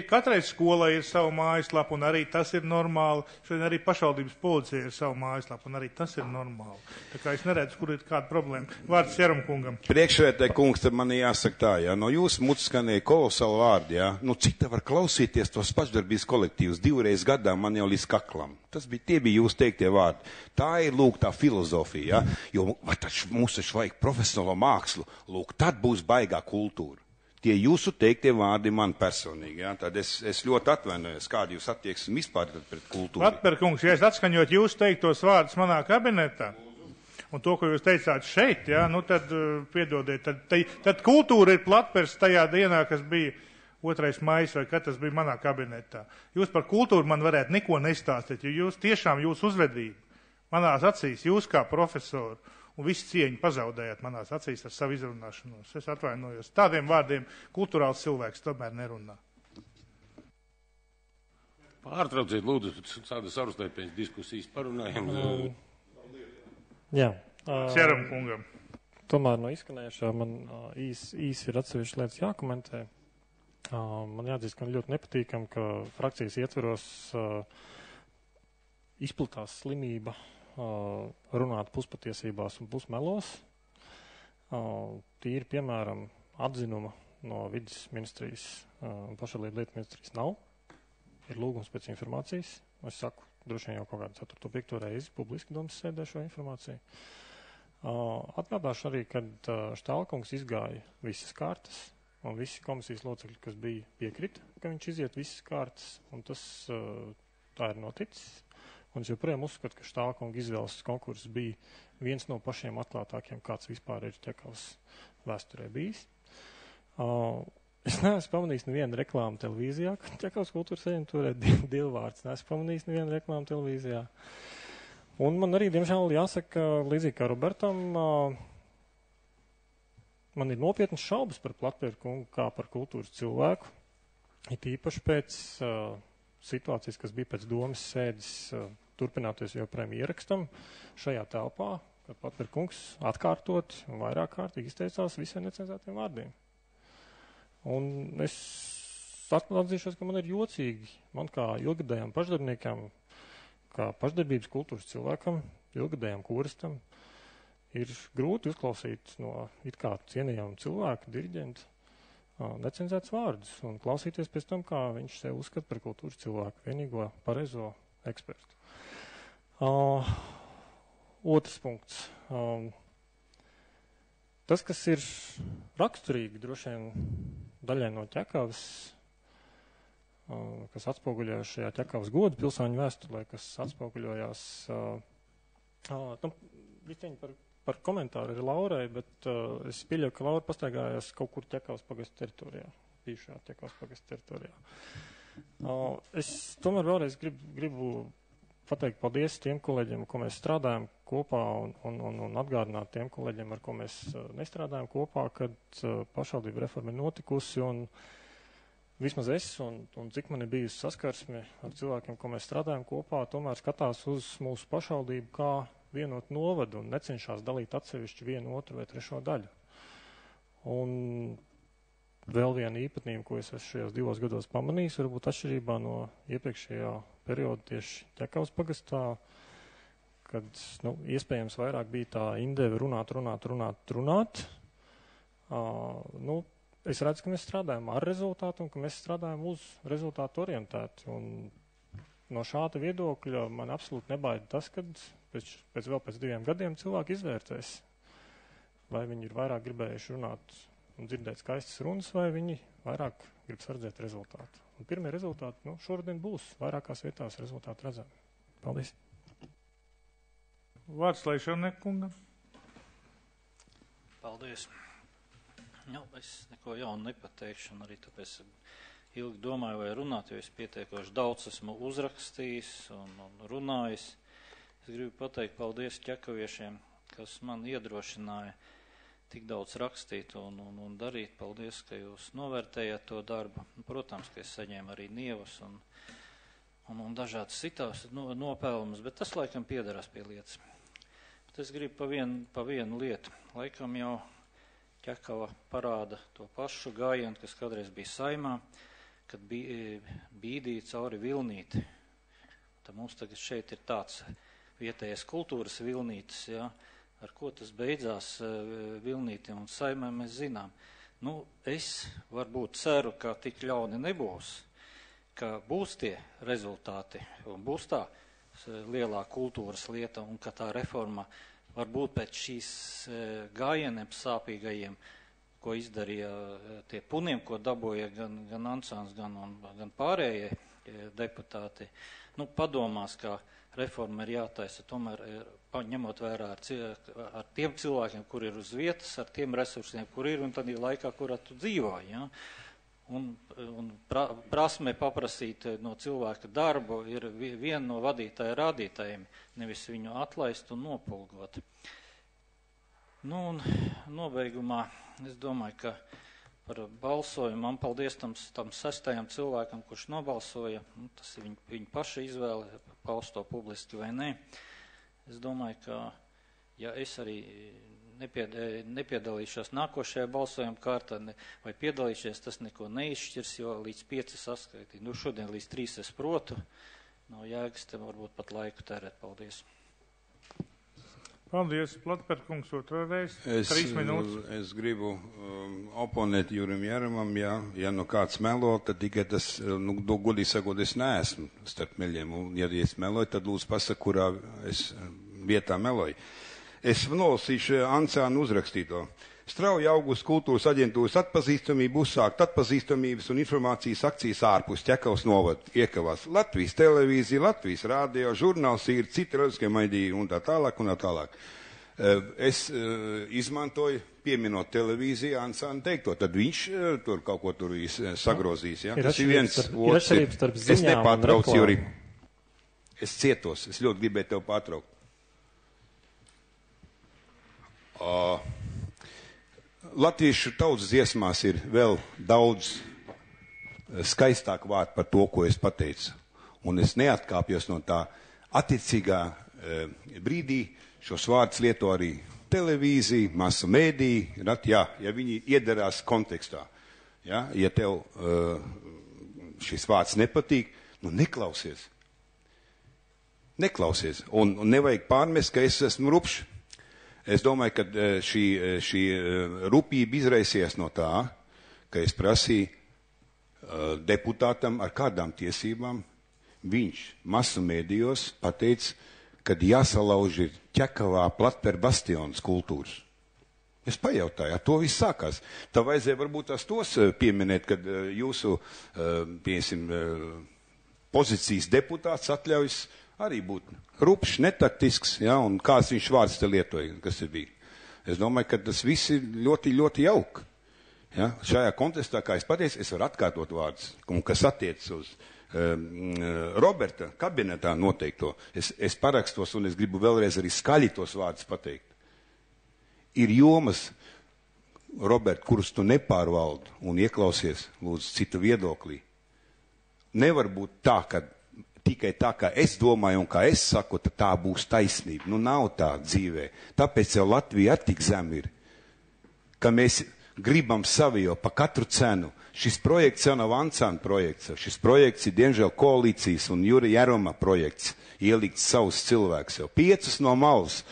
Katrai skolai ir savu mājaslapu, un arī tas ir normāli. Šodien arī pašvaldības policija ir savu mājaslapu, un arī tas ir normāli. Tā kā es neredzu, kur ir kāda problēma. Vārds Jerumkungam. Priekšvētē, kungs, tad man jāsaka tā, ja no jūsu mutes skanēja kolosāli vārdi, ja, cik te var klausīties tos pašdarbības kolektīvus 2 reizes gadā man jau līdz kaklam. Tie bija jūs teiktie vārdi. Tā ir, lūk, tā filozofija, ja, jo mums taču vajag profesionālo mākslu, lūk, tad būs baigā kultūra. tie jūsu teiktie vārdi man personīgi, jā, tad es ļoti atvainojos, kādi jūs attieksmi vispār pret kultūru. Latperkungs, ja es atskaņot jūs teiktos vārdus manā kabinetā, un to, ko jūs teicāt šeit, jā, nu tad, piedodiet, tad kultūra ir Latpers tajā dienā, kas bija 2. maijs, vai kad tas bija manā kabinetā. Jūs par kultūru man varētu neko nestāstīt, jo jūs tiešām jūs uzvedību manās acīs, jūs kā profesoru, un visu cieņu pazaudējāt manās acīs ar savu izrunāšanos. Es atvainojos. Tādiem vārdiem kulturāls cilvēks tomēr nerunā. Pārtrauciet, lūdzu, tāda sarunāja pēc diskusijas parunājam. Jā. Ceram kungam. Tomēr no izskanējušā man īsi ir atsevišķi lietas jākomentē. Man jāatzīst, ka man ļoti nepatīkam, ka frakcijas ietveros izplatās slimība runāt puspatiesībās un pusmelos. Tīri, piemēram, atzinuma no vidas ministrijas un pašvaldību lietu ministrijas nav. Ir lūgums pēc informācijas. Es saku, droši vien jau kaut kādu 4. 5. reizi publiski domas sēdē šo informāciju. Atgādāšu arī, kad Štālkungs izgāja visas kārtas, un visi komisijas locekļi, kas bija piekrita, ka viņš iziet visas kārtas, un tas tā ir noticis. Un es joprojām uzskatu, ka Štālkunga izvēles konkurss bija viens no pašiem atklātākiem, kāds vispār ir Ķekavas vēsturē bijis. Es neesmu pamanījis nevienu reklāmu televīzijā, ka Ķekavas kultūras aģentūrē divvārds. Neesmu pamanījis nevienu reklāmu televīzijā. Un man arī, diemžēl, jāsaka, līdzīgi kā Robertam, man ir nopietnas šaubas par Platpēru kungu kā par kultūras cilvēku. It īpaši pēc situācijas, kas bija pēc domas sēdes, turpināties joprojām ierakstam šajā telpā, kad Platpēru kungs atkārtot un vairāk kārtīgi izteicās visiem necenzētiem vārdiem. Un es atzīšos, ka man ir jocīgi, man kā ilgadējām pašdarbniekam, kā pašdarbības kultūras cilvēkam, ilgadējām koristam, ir grūti uzklausīt no it kā cienījama cilvēka, diriģenta, necenzēts vārdus un klausīties pēc tam, kā viņš sev uzskata par kultūras cilvēku, vienīgo pareizo ekspertu. Otrs punkts. Tas, kas ir raksturīgi droši vien daļai no Ķekavas, kas atspoguļojas šajā Ķekavas godu pilsāņu vēstulē, kas atspoguļojās vistiņi par komentāru ir Laurai, bet es pieļauju, ka Laura pastaigājās kaut kur Ķekavas pagasta teritorijā, bijušajā Ķekavas pagasta teritorijā. Es tomēr vēlreiz gribu pateikt paldies tiem kolēģiem, ko mēs strādājam kopā un atgādināt tiem kolēģiem, ar ko mēs nestrādājam kopā, kad pašvaldība reforma ir notikusi un vismaz es un cik man ir bijusi saskarsme ar cilvēkiem, ko mēs strādājam kopā, tomēr skatās uz mūsu pašvaldību kā vienot novadu un necenšās dalīt atsevišķi 1, 2 vai 3 daļu. Un vēl viena īpatnība, ko es esmu šajos 2 gados pamanījis, varbūt atšķirībā no iepriekšējā perioda tieši Ķekavas pagastā, kad, iespējams vairāk bija tā indeve runāt. Es redzu, ka mēs strādājam ar rezultātu un ka mēs strādājam uz rezultātu orientēti. Un no šāda viedokļa man absolūti nebaida tas, kad pēc 2 gadiem cilvēki izvērtēs, vai viņi ir vairāk gribējuši runāt un dzirdēt skaistas runas, vai viņi vairāk grib sardzēt rezultātu. Un pirmie rezultāti, šodien būs vairākās vietās rezultāti redzami. Paldies. Vārds Leišanekungam. Paldies. Es neko jaunu nepateikšu, un arī tāpēc ilgi domāju, vai runāt, jo es pietiekoši daudz esmu uzrakstījis un runājis. Es gribu pateikt paldies ķekaviešiem, kas man iedrošināja tik daudz rakstīt un darīt. Paldies, ka jūs novērtējat to darbu. Protams, ka es saņēmu arī nievas un dažādas citās nopelnumus, bet tas laikam piederās pie lietas. Bet es gribu pa vienu lietu. Laikam jau Ķekava parāda to pašu gājienu, kas kādreiz bija Saimā, kad bīdīja cauri vilnīti. Tad mums tagad šeit ir tāds vietējais kultūras vilnītis, ja, ar ko tas beidzās vilnīti un Saimē mēs zinām. Es varbūt ceru, ka tik ļauni nebūs, ka būs tie rezultāti un būs tā lielā kultūras lieta un ka tā reforma varbūt pēc šīs gājieniem sāpīgajiem, ko izdarīja tie puniem, ko dabūja gan Ansāns, gan pārējie deputāti. Padomās, ka reforma ir jātaisa tomēr ņemot vērā ar tiem cilvēkiem, kur ir uz vietas, ar tiem resursiem, kur ir un tad ir laikā, kurā tu dzīvo. Ja? Un prasme paprasīt no cilvēka darbu ir viena no vadītāja rādītājiem, nevis viņu atlaist un nopulgot. Un nobeigumā es domāju, ka par balsojumu man paldies tam 6. cilvēkam, kurš nobalsoja. Tas ir viņa paša izvēle, paust to publiski vai nē. Es domāju, ka ja es arī nepiedalīšos nākošajā balsojuma kārtā vai piedalīšies, tas neko neizšķirs, jo līdz 5 saskaitīt. Šodien līdz 3 es protu. Nav jēgas, te varbūt pat laiku tērēt. Paldies. Paldies, Platperkungs, otrā reize. 3 minūtes. Es gribu oponēt Jurim Jāramam, ja kāds melo, tad tikai tas, godīgi sakot, es neesmu starp meļiem. Un, ja es meloju, tad lūdzu pasaka, kurā es vietā meloju. Es nolasīšu Ansānu uzrakstīto. Strauji augus kultūras aģentūras atpazīstamību uzsākt atpazīstamības un informācijas akcijas ārpus Ķekavas novada iekavās Latvijas televīzija, Latvijas rādio, žurnāls ir, citi reliģiskie mediji un tā tālāk un tā tālāk. Es izmantoju, pieminot televīziju, Ansānu teikto, tad viņš tur kaut ko tur sagrozīs. Ja? Tas ir viens otrs. Es nepārtraucu, Juri. Es cietos, es ļoti gribēju tev pārtraukt. Latviešu tautas dziesmās ir vēl daudz skaistāk vārdu par to, ko es pateicu. Un es neatkāpjos no tā attiecīgā brīdī. Šos vārdus lieto arī televīzija, masu mēdī, ja viņi iedarās kontekstā. Ja tev šis vārds nepatīk, neklausies. Neklausies. Un nevajag pārmest, ka es esmu rupšs. Es domāju, ka šī rupība izraisies no tā, ka es prasīju deputātam ar kādām tiesībām. Viņš masu mēdījos pateica, kad jāsalauž ir Ķekavā Platper bastions kultūras. Es pajautāju, ar to viss sākās. Tā vajadzēja varbūt tos pieminēt, kad jūsu, pozīcijas deputāts atļaujas arī būt rupšs, netaktisks, un kāds viņš vārds te lietoja, kas ir bija. Es domāju, ka tas viss ir ļoti, ļoti jauki. Ja? Šajā kontekstā, kā es pateicu, es varu atkārtot vārdus, un kas attiec uz Roberta kabinetā noteikto. Es parakstos, un es gribu vēlreiz arī skaļi tos vārdus pateikt. Ir jomas, Robert, kurus tu nepārvaldi un ieklausies, lūdzu, citu viedoklī. Nevar būt tā, ka tikai tā, kā es domāju un kā es saku, tad tā būs taisnība. Nav tā dzīvē. Tāpēc jau Latvija tik zem ir, ka mēs gribam savi jau pa katru cenu. Šis projekts jau nav Ansāna projekts. Šis projekts ir, diemžēl, koalīcijas un Jura Jārama projekts. Ielikt savus cilvēkus jau 5 no malas.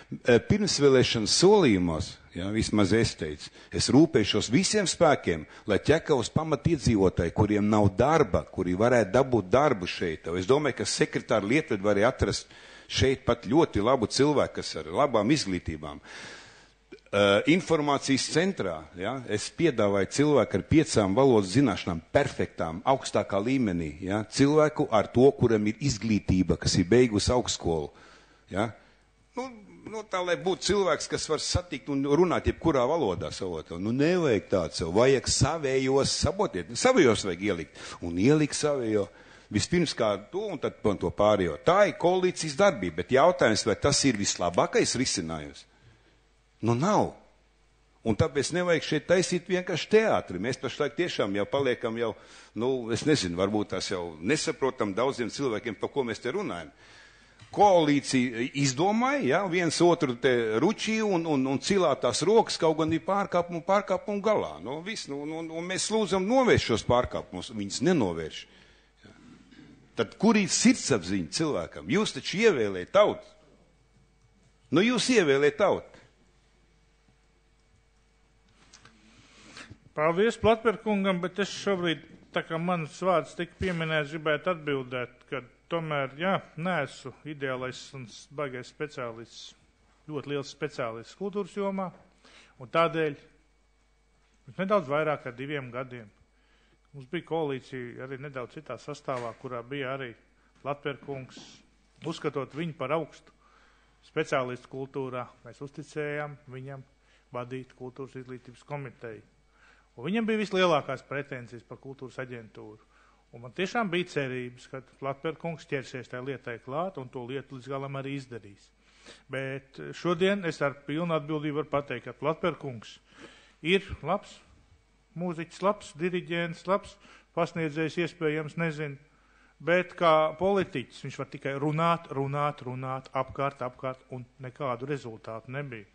Pirmsvēlēšanas solījumos, vismaz es teicu, es rūpēšos visiem spēkiem, lai Ķekavas pamatiedzīvotāji, kuriem nav darba, kuri varētu dabūt darbu šeit. Es domāju, ka sekretāra Lietved var atrast šeit pat ļoti labu cilvēku, kas ar labām izglītībām. Informācijas centrā, es piedāvāju cilvēku ar 5 valodas zināšanām, perfektām, augstākā līmenī, cilvēku ar to, kuram ir izglītība, kas ir beigus augstskolu. Tā, lai būtu cilvēks, kas var satikt un runāt jebkurā valodā savotā. Nevajag tāds sev, vajag savējos sabotiet, savējos vajag ielikt. Un ielikt savējo vispirms kā to un tad to pārējo. Tā ir koalīcijas darbība, bet jautājums, vai tas ir vislabākais risinājums? Nav. Un tāpēc nevajag šeit taisīt vienkārši teātri. Mēs pašlaik tiešām jau paliekam jau, es nezinu, varbūt tās jau nesaprotam daudziem cilvēkiem, par ko mēs te runājam. Koalīcija izdomāja, viens otru te ručīja un cilā tās rokas, kaut gan ir pārkāpumu galā. Un mēs lūdzam novērst šos pārkāpumus, viņas nenovērš. Tad kur ir sirdsapziņa cilvēkam? Jūs taču ievēlējat tautu. Jūs ievēlējat tautu. Paldies Platperkungam, bet es šobrīd, tā kā manas vārds tika pieminēts, gribētu atbildēt, ka tomēr, neesmu ideālais un baigais speciālists, ļoti liels speciālists kultūras jomā, un tādēļ Nedaudz vairāk kā 2 gadiem. Mums bija koalīcija arī nedaudz citā sastāvā, kurā bija arī Latverkungs, uzskatot viņu par augstu speciālistu kultūrā. Mēs uzticējām viņam vadīt kultūras izglītības komiteju. Un viņam bija vislielākās pretenzijas par kultūras aģentūru. Un man tiešām bija cerības, ka Latverkungs ķersies tajā lietai klāt un to lietu līdz galam arī izdarīs. Bet šodien es ar pilnu atbildību varu pateikt, ka Latverkungs ir labs mūziķis, labs diriģents, labs pasniedzējs, iespējams, nezinu, bet kā politiķis viņš var tikai runāt, apkārt, un nekādu rezultātu nebija.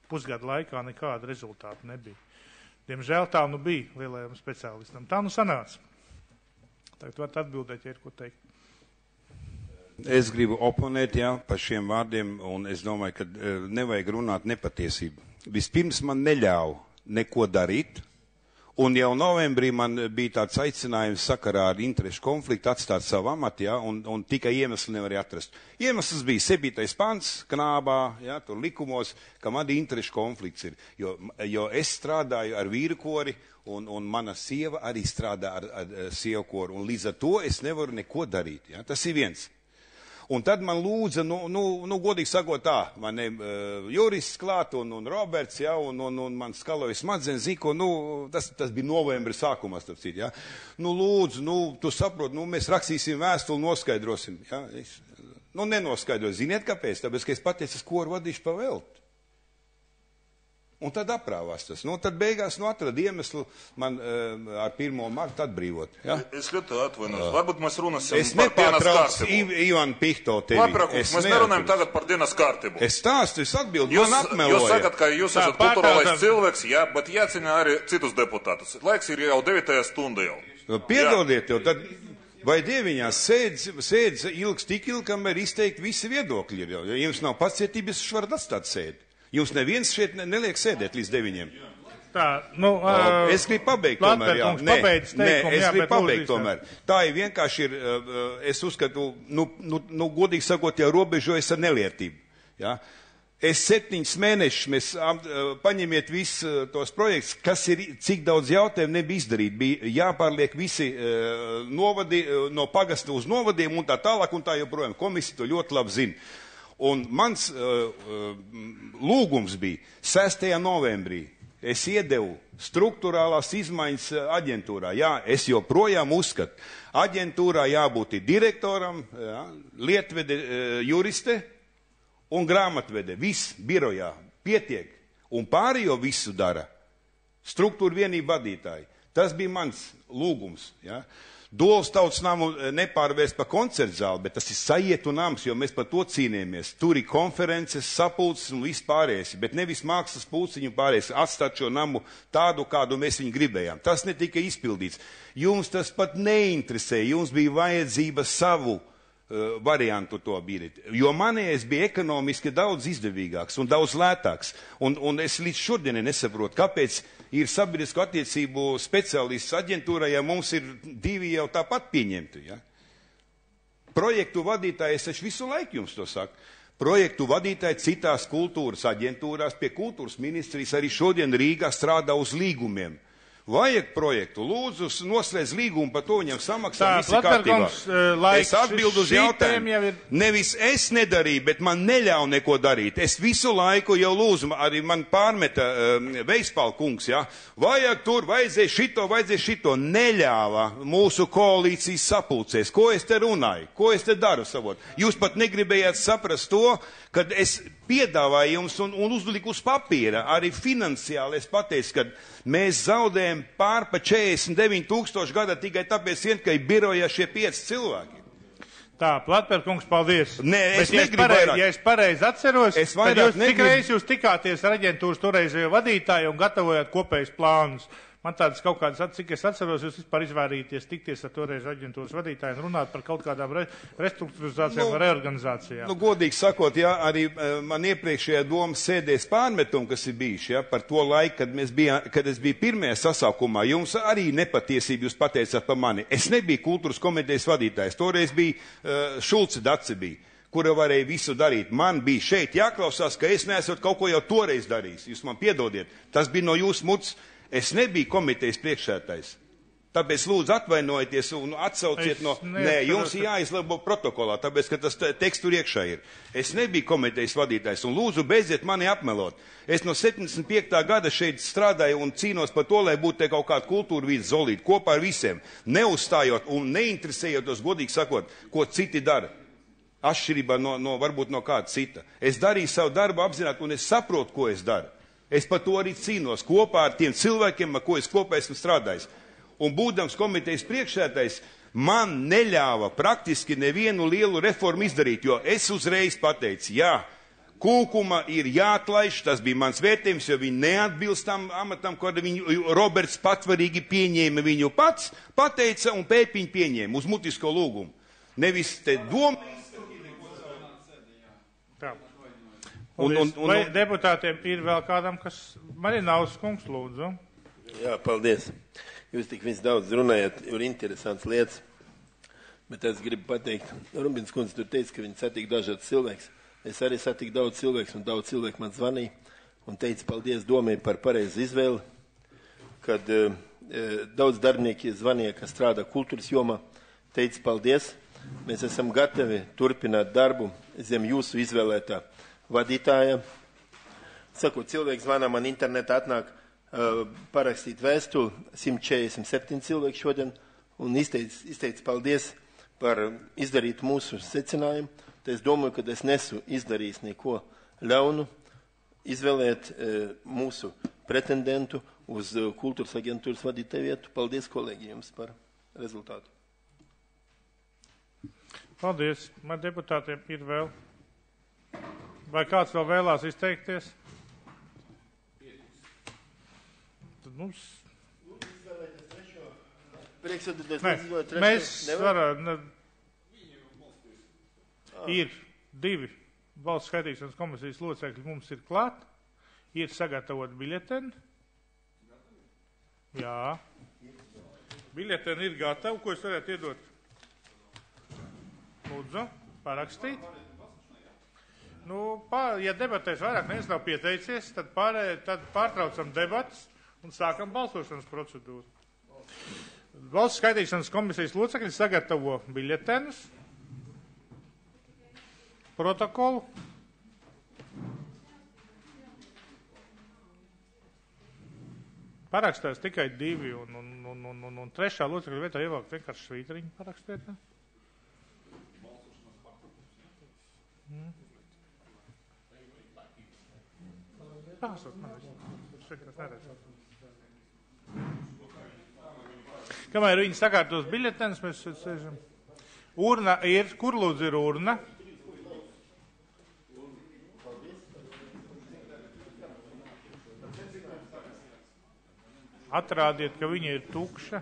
Pusgadu laikā nekādu rezultātu nebija. Diemžēl tā nu bija lielajam speciālistam. Tā nu sanāca. Tagad varat atbildēt, ja ir ko teikt. Es gribu oponēt, par šiem vārdiem, un es domāju, ka nevajag runāt nepatiesību. Vispirms man neļauj neko darīt, un jau novembrī man bija tāds aicinājums sakarā ar interešu konfliktu atstāt savu amatu, un tikai iemesli nevarēja atrast. Iemesls bija 7. pants knābā, tur likumos, ka man interešu konflikts ir, jo es strādāju ar vīrkori, un mana sieva arī strādā ar sievkoru, un līdz ar to es nevaru neko darīt. Tas ir viens. Un tad man lūdza, godīgi sakot tā, man jurists klāt un Roberts, un man skaloja smadzenes ziko, tas bija novembra sākumā, starp citu, lūdzu, tu saproti, mēs rakstīsim vēstuli, noskaidrosim, nenoskaidroju, ziniet kāpēc, tāpēc, ka es pateicu, es koru vadīšu pa velti. Un tad aprāvās tas. Tad beigās atrada iemeslu man ar 1. martu atbrīvot. Ja? Es ļoti atvainojos. Varbūt mēs runāsim es par dienas kārtību. Ivanu Pihto tevi. Laprākums, mēs nerunājam tagad par dienas kārtību. Es stāstu, es atbildu, man apmeloja. Jūs sakat, ka jūs esat kulturālais cilvēks, bet jācina arī citus deputātus. Laiks ir jau 9. stunda jau. Piedodiet jau, tad vai dieviņās sēdz ilgs tik ilgi, kamēr izteikt visi viedokļi ir jau. Ja jums nav pacietības, jūs varat atstāt sēdi. Jums neviens šeit neliek sēdēt līdz 9. Tā, es gribu pabeigt tomēr, es gribu pabeigt tomēr. Tā ir vienkārši ir, es uzskatu, godīgi sakot, jau robežojas ar nelietību. Ja? Es 7 mēnešus, mēs paņemiet visus tos projektus, kas ir, cik daudz jautājumu nebija izdarīt. Bija jāpārliek visi novadi, no pagasta uz novadiem un tā tālāk un tā joprojām. Komisija to ļoti labi zina. Un mans lūgums bija 6. novembrī. Es iedevu struktūrālās izmaiņas aģentūrā. Jā, es joprojām uzskatu, aģentūrā jābūt direktoram, lietvede, juriste un grāmatvede. Viss birojā pietiek. Un pārējo visu dara struktūra vienība vadītāji. Tas bija mans lūgums. Ja? Dolas tautas namu nepārvērst par koncertu zāli, bet tas ir sajietu nams, jo mēs par to cīnījāmies. Tur ir konferences, sapulces un viss pārējais, bet nevis mākslas pulciņu pārējais, atstāt šo namu tādu, kādu mēs viņu gribējām. Tas netika izpildīts. Jums tas pat neinteresē, jums bija vajadzība savu variantu to bīdīt. Jo manējais bija ekonomiski daudz izdevīgāks un daudz lētāks. Un es līdz šodienai nesaprotu, kāpēc ir sabiedrisko attiecību speciālists aģentūrā, ja mums ir 2 jau tāpat pieņemti. Ja? Projektu vadītāji, es taču visu laiku jums to saku. Projektu vadītāji citās kultūras aģentūrās pie kultūras ministrijas arī šodien Rīgā strādā uz līgumiem. Vajag projektu, lūdzu, noslēdz līgumu, par to viņam samaksā visi kārtībā. Es atbildu uz jautājumu. Nevis es nedarīju, bet man neļauj neko darīt. Es visu laiku jau lūdzu, arī man pārmeta Veispāla kungs, vajag tur, vajadzēja šito. Neļāva mūsu koalīcijas sapulcēs. Ko es te runāju? Ko es te daru savot? Jūs pat negribējāt saprast to, kad es piedāvāju jums un uzliku uz papīra, arī finansiāli es pateicu, ka mēs zaudējam pār pa 49 000 gada tikai tāpēc, ka ir birojā šie 5 cilvēki. Tā, Platperkungs, paldies. Nē, es negribu vairāk. Ja es pareizi atceros, tad cik reiz jūs tikāties ar aģentūras toreizējo vadītāju un gatavojāt kopējus plānus? Man tādas kaut kādas, cik es atceros, jūs vispār izvairīties tikties ar toreiz aģentūras vadītāju un runāt par kaut kādām restruktūrizācijām un reorganizācijām. Godīgi sakot, arī man iepriekšējā domas sēdēs pārmetumi, kas ir bijuši, par to laiku, kad es biju pirmajā sasaukumā, jums arī nepatiesība jūs pateicāt par mani. Es nebiju kultūras komitejas vadītājs, toreiz bija Šulce Dace bija, kura varēja visu darīt. Man bija šeit jāklausās, ka es neesot kaut ko jau toreiz darījis. Jūs man piedodiet, tas bija no jūsu muts. Es nebiju komitejas priekšsēdētājs. Tāpēc lūdzu atvainojieties un atsauciet no... Nē, jums ir jāizlabo protokolā, tāpēc, ka tas teksts tur iekšā ir. Es nebiju komitejas vadītājs un lūdzu beidziet mani apmelot. Es no 75. gada šeit strādāju un cīnos par to, lai būtu te kaut kāda kultūra vīdes zolīta kopā ar visiem, neuzstājot un neinteresējotos, godīgi sakot, ko citi dara. Atšķirībā varbūt no kāda cita. Es darīju savu darbu apzināti un es saprotu, ko es daru. Es par to arī cīnos kopā ar tiem cilvēkiem, ar ko es kopā esmu strādājis. Un būdams komitejas priekšsēdētājs, man neļāva praktiski nevienu lielu reformu izdarīt, jo es uzreiz pateicu, jā, Kūkuma ir jāatlaiž, tas bija mans vērtējums, jo viņi neatbilst tam amatam, ko viņu Roberts patvarīgi pieņēma viņu pats, pateica un Pēpiņu pieņēma uz mutisko lūgumu. Nevis te doma. Vai deputātiem ir vēl kādam, kas Marinauskas kungs lūdzu? Jā, paldies. Jūs tik viss daudz runājat, ir interesants lietas, bet es gribu pateikt, Rubins kundze tur teica, ka viņi satika dažādas cilvēks. Es arī satiku daudz cilvēks, un daudz cilvēku man zvanīja, un teica paldies domai par pareizu izvēli, kad daudz darbinieki zvanīja, kas strādā kultūras jomā, teica paldies, mēs esam gatavi turpināt darbu zem jūsu izvēlētā vadītāja. Sakot, cilvēks zvanā man internetā atnāk, parakstīt vēstuli, 147 cilvēki šodien, un izteica paldies par izdarīt mūsu secinājumu. Tad es domāju, ka es nesu izdarījis neko ļaunu, izvēlēt mūsu pretendentu uz kultūras aģentūras vadītāju vietu. Paldies, kolēģi, jums par rezultātu. Paldies. Man deputātiem ir vēl. Vai kāds vēl vēlās izteikties? Mums... Mēs varam, ir 2 valsts skaitīšanas komisijas locekļi, mums ir klāt, ir sagatavot biļeteni. Jā. Biļeteni ir gatava, ko es varētu iedot? Lūdzu, parakstīt. Ja debatēs vairāk neviens nav pieteicies, tad pārtraucam debatas un sākam balsošanas procedūru. Valsts skaitīšanas komisijas locekļi sagatavo biļetenus, protokolu. Parakstās tikai 2 un 3. locekļa vietā ievilkt vienkārši svītriņu parakstēt. Kamēr viņi sakārtos biļetenes, mēs sēžam. Urna ir, kur lūdzu ir urna? Atrādiet, ka viņa ir tukša.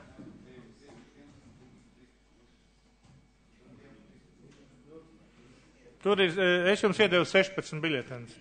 Tur ir, es jums iedevu 16 biļetenes.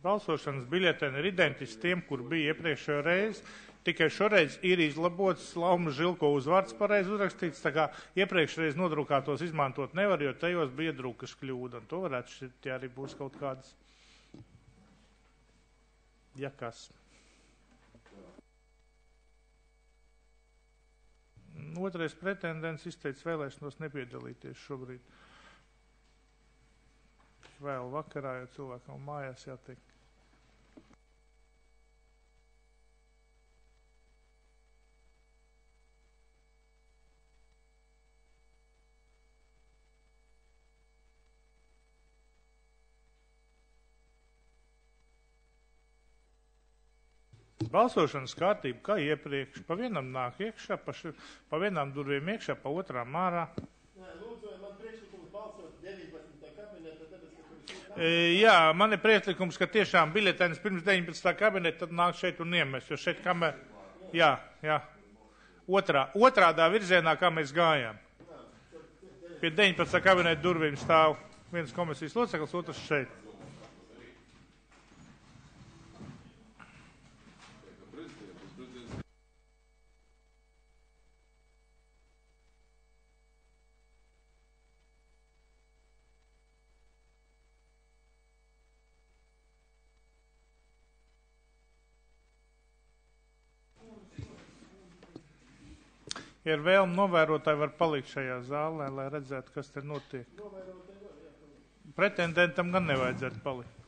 Balsošanas biļeteni ir identiski tiem, kur bija iepriekšējo reizi. Tikai šoreiz ir izlabots Laumas Žilko uzvārds pareizi uzrakstīts, tā kā iepriekšreiz nodrukātos izmantot nevar, jo tajos bija drukas kļūda, un to varētu šķirt, ja arī būs kaut kādas, ja kas. Otrais pretendents izteica vēlēšanos nepiedalīties šobrīd. Vēl vakarā, jo cilvēkam mājās jātiek. Balsošanas kārtība, kā iepriekš, pa vienam nāk iekšā, pa vienām durvīm iekšā, pa otrām ārā. Lūdzu, vai man priekšlikums balsot 19. kabineta, tāpēc, Jā, man ir priekšlikums, ka tiešām biļetenis pirms 19. kabineta tad nāk šeit un iemest, jo šeit kamēr, jā, otrādā virzienā, kā mēs gājām. Pie 19. kabineta durvīm stāv viens komisijas loceklis, otrs šeit. Ja ir vēlme, novērotāji var palikt šajā zālē, lai redzētu, kas te notiek. Pretendentam gan nevajadzētu palikt.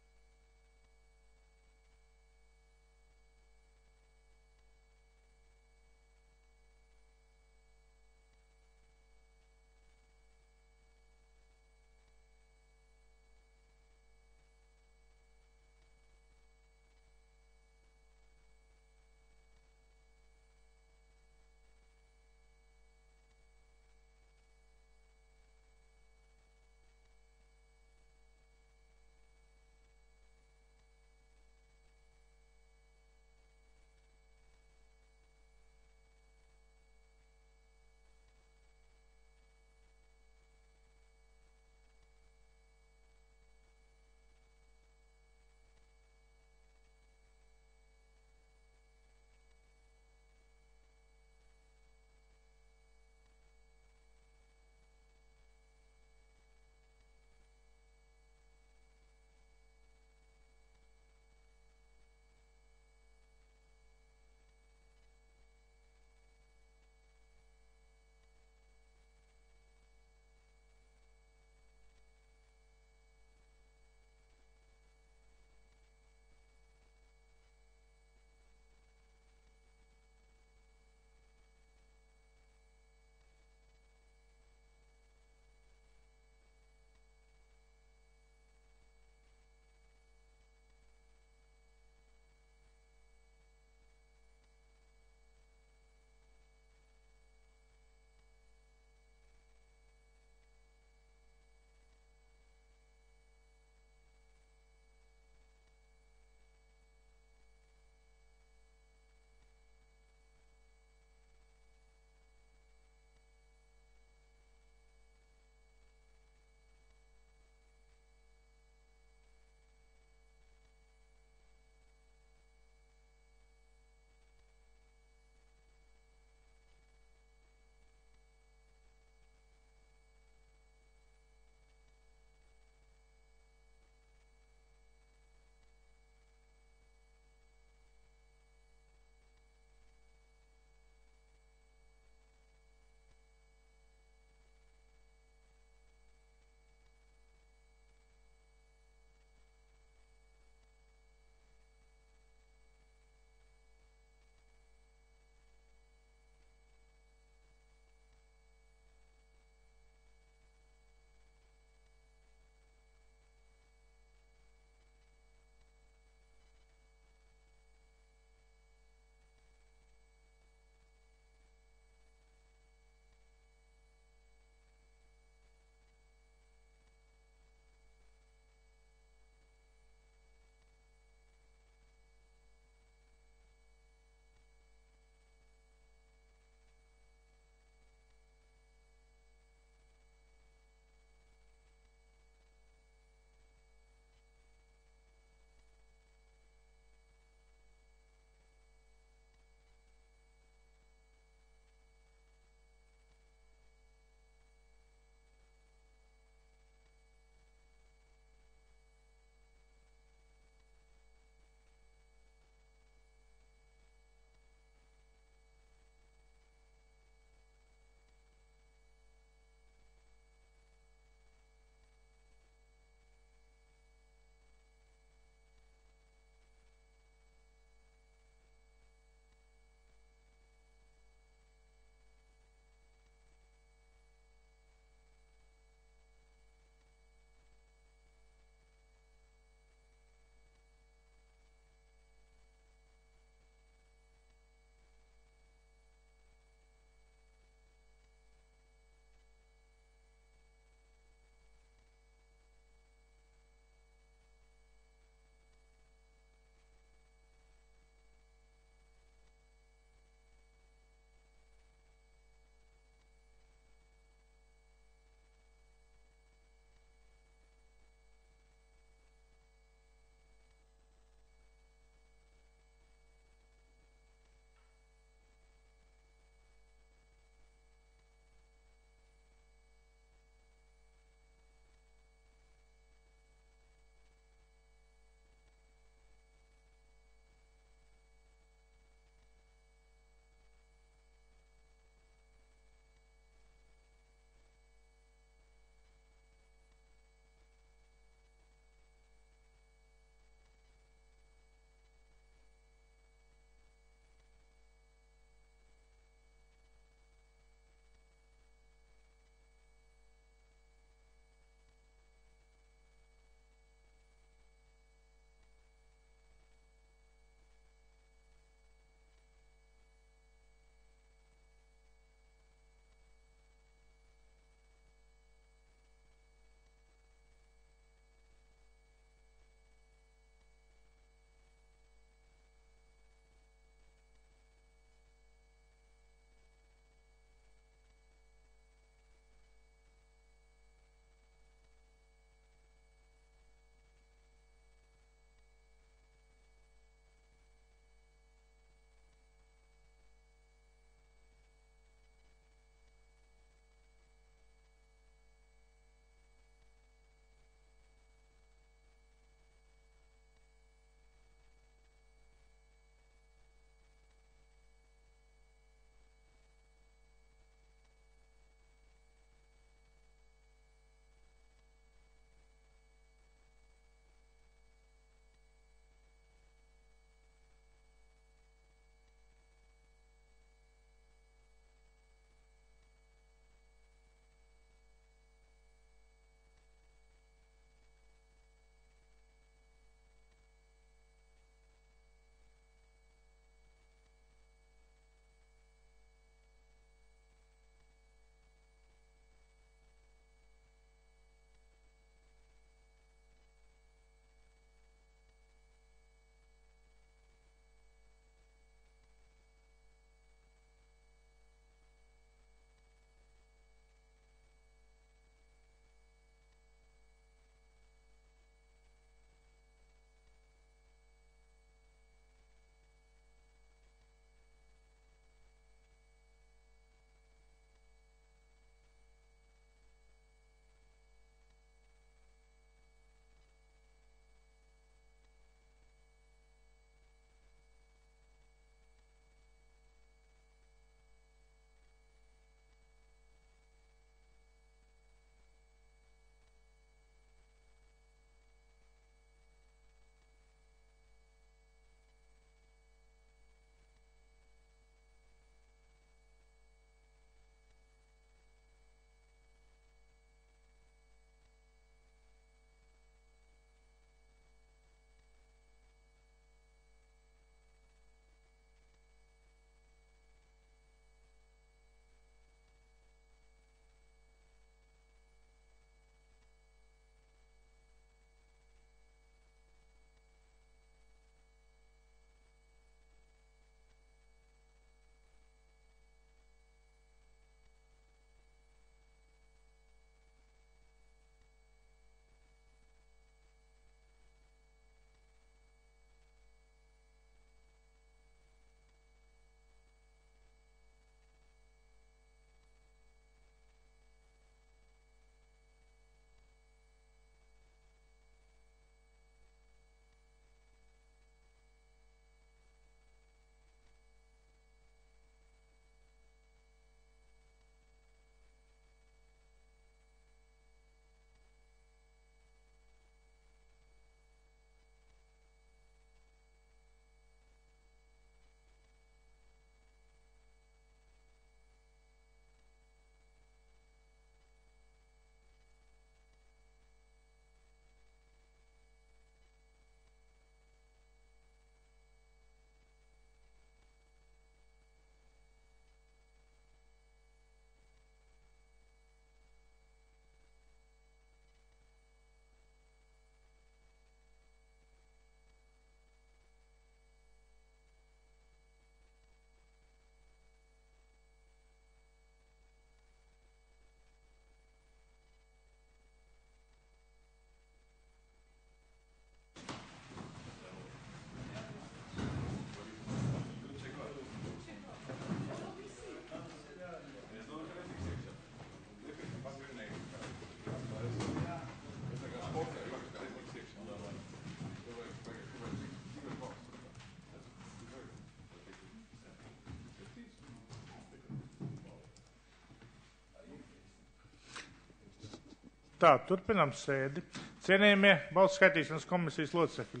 Tā, turpinām sēdi. Cienījamie balsu skaitīšanas komisijas locekļi.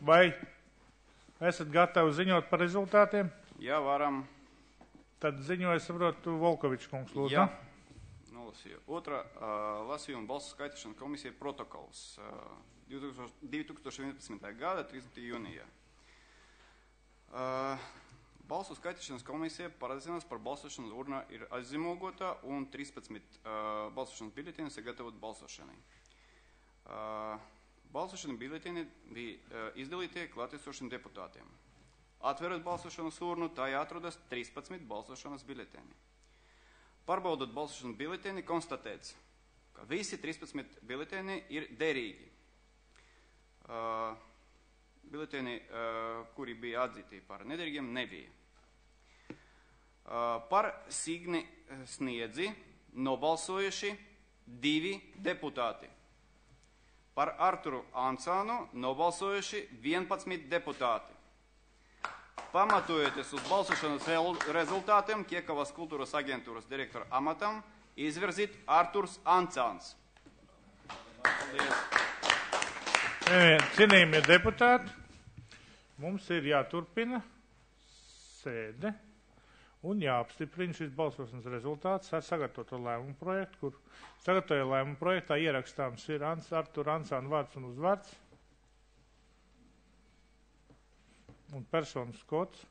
Vai esat gatavi ziņot par rezultātiem? Jā, varam. Tad ziņoja, saprotu, Volkovičs kungs, lūdzu. Jā, nolasīju. Otrā lasījuma balsu skaitīšanas komisija protokols 2011. gada 30. jūnijā. Balsu skaitīšanas komisija parazinās par balsošanas urnā ir aizzīmogotā un 13 balsošanas biļetēni sagatavot balsošanai. Balsošanas biļetēni bija izdalītie klātesošiem deputātiem. Atverot balsošanas urnu, tā atrodas 13 balsošanas biļetēni. Pārbaudot balsošanas biļetēni, konstatēts, ka visi 13 biļetēni ir derīgi. Biļetēni, kuri bija atzīti par nederīgiem, nebija. Par Signi Sniedzi nobalsojuši 2 deputāti. Par Arturu Ansānu nobalsojuši 11 deputāti. Pamatojoties uz balsošanas rezultātiem, Kiekavas kultūras aģentūras direktora amatam izvirzīt Arturs Ansāns. Cienījamie deputāti, mums ir jāturpina sēde un jāapstiprina šis balsošanas rezultāts ar sagatavoto lēmumu projektu, kur sagatavoja lēmumu projektā ierakstāms ir Artur Ansāna vārds un uzvārds un personas kods.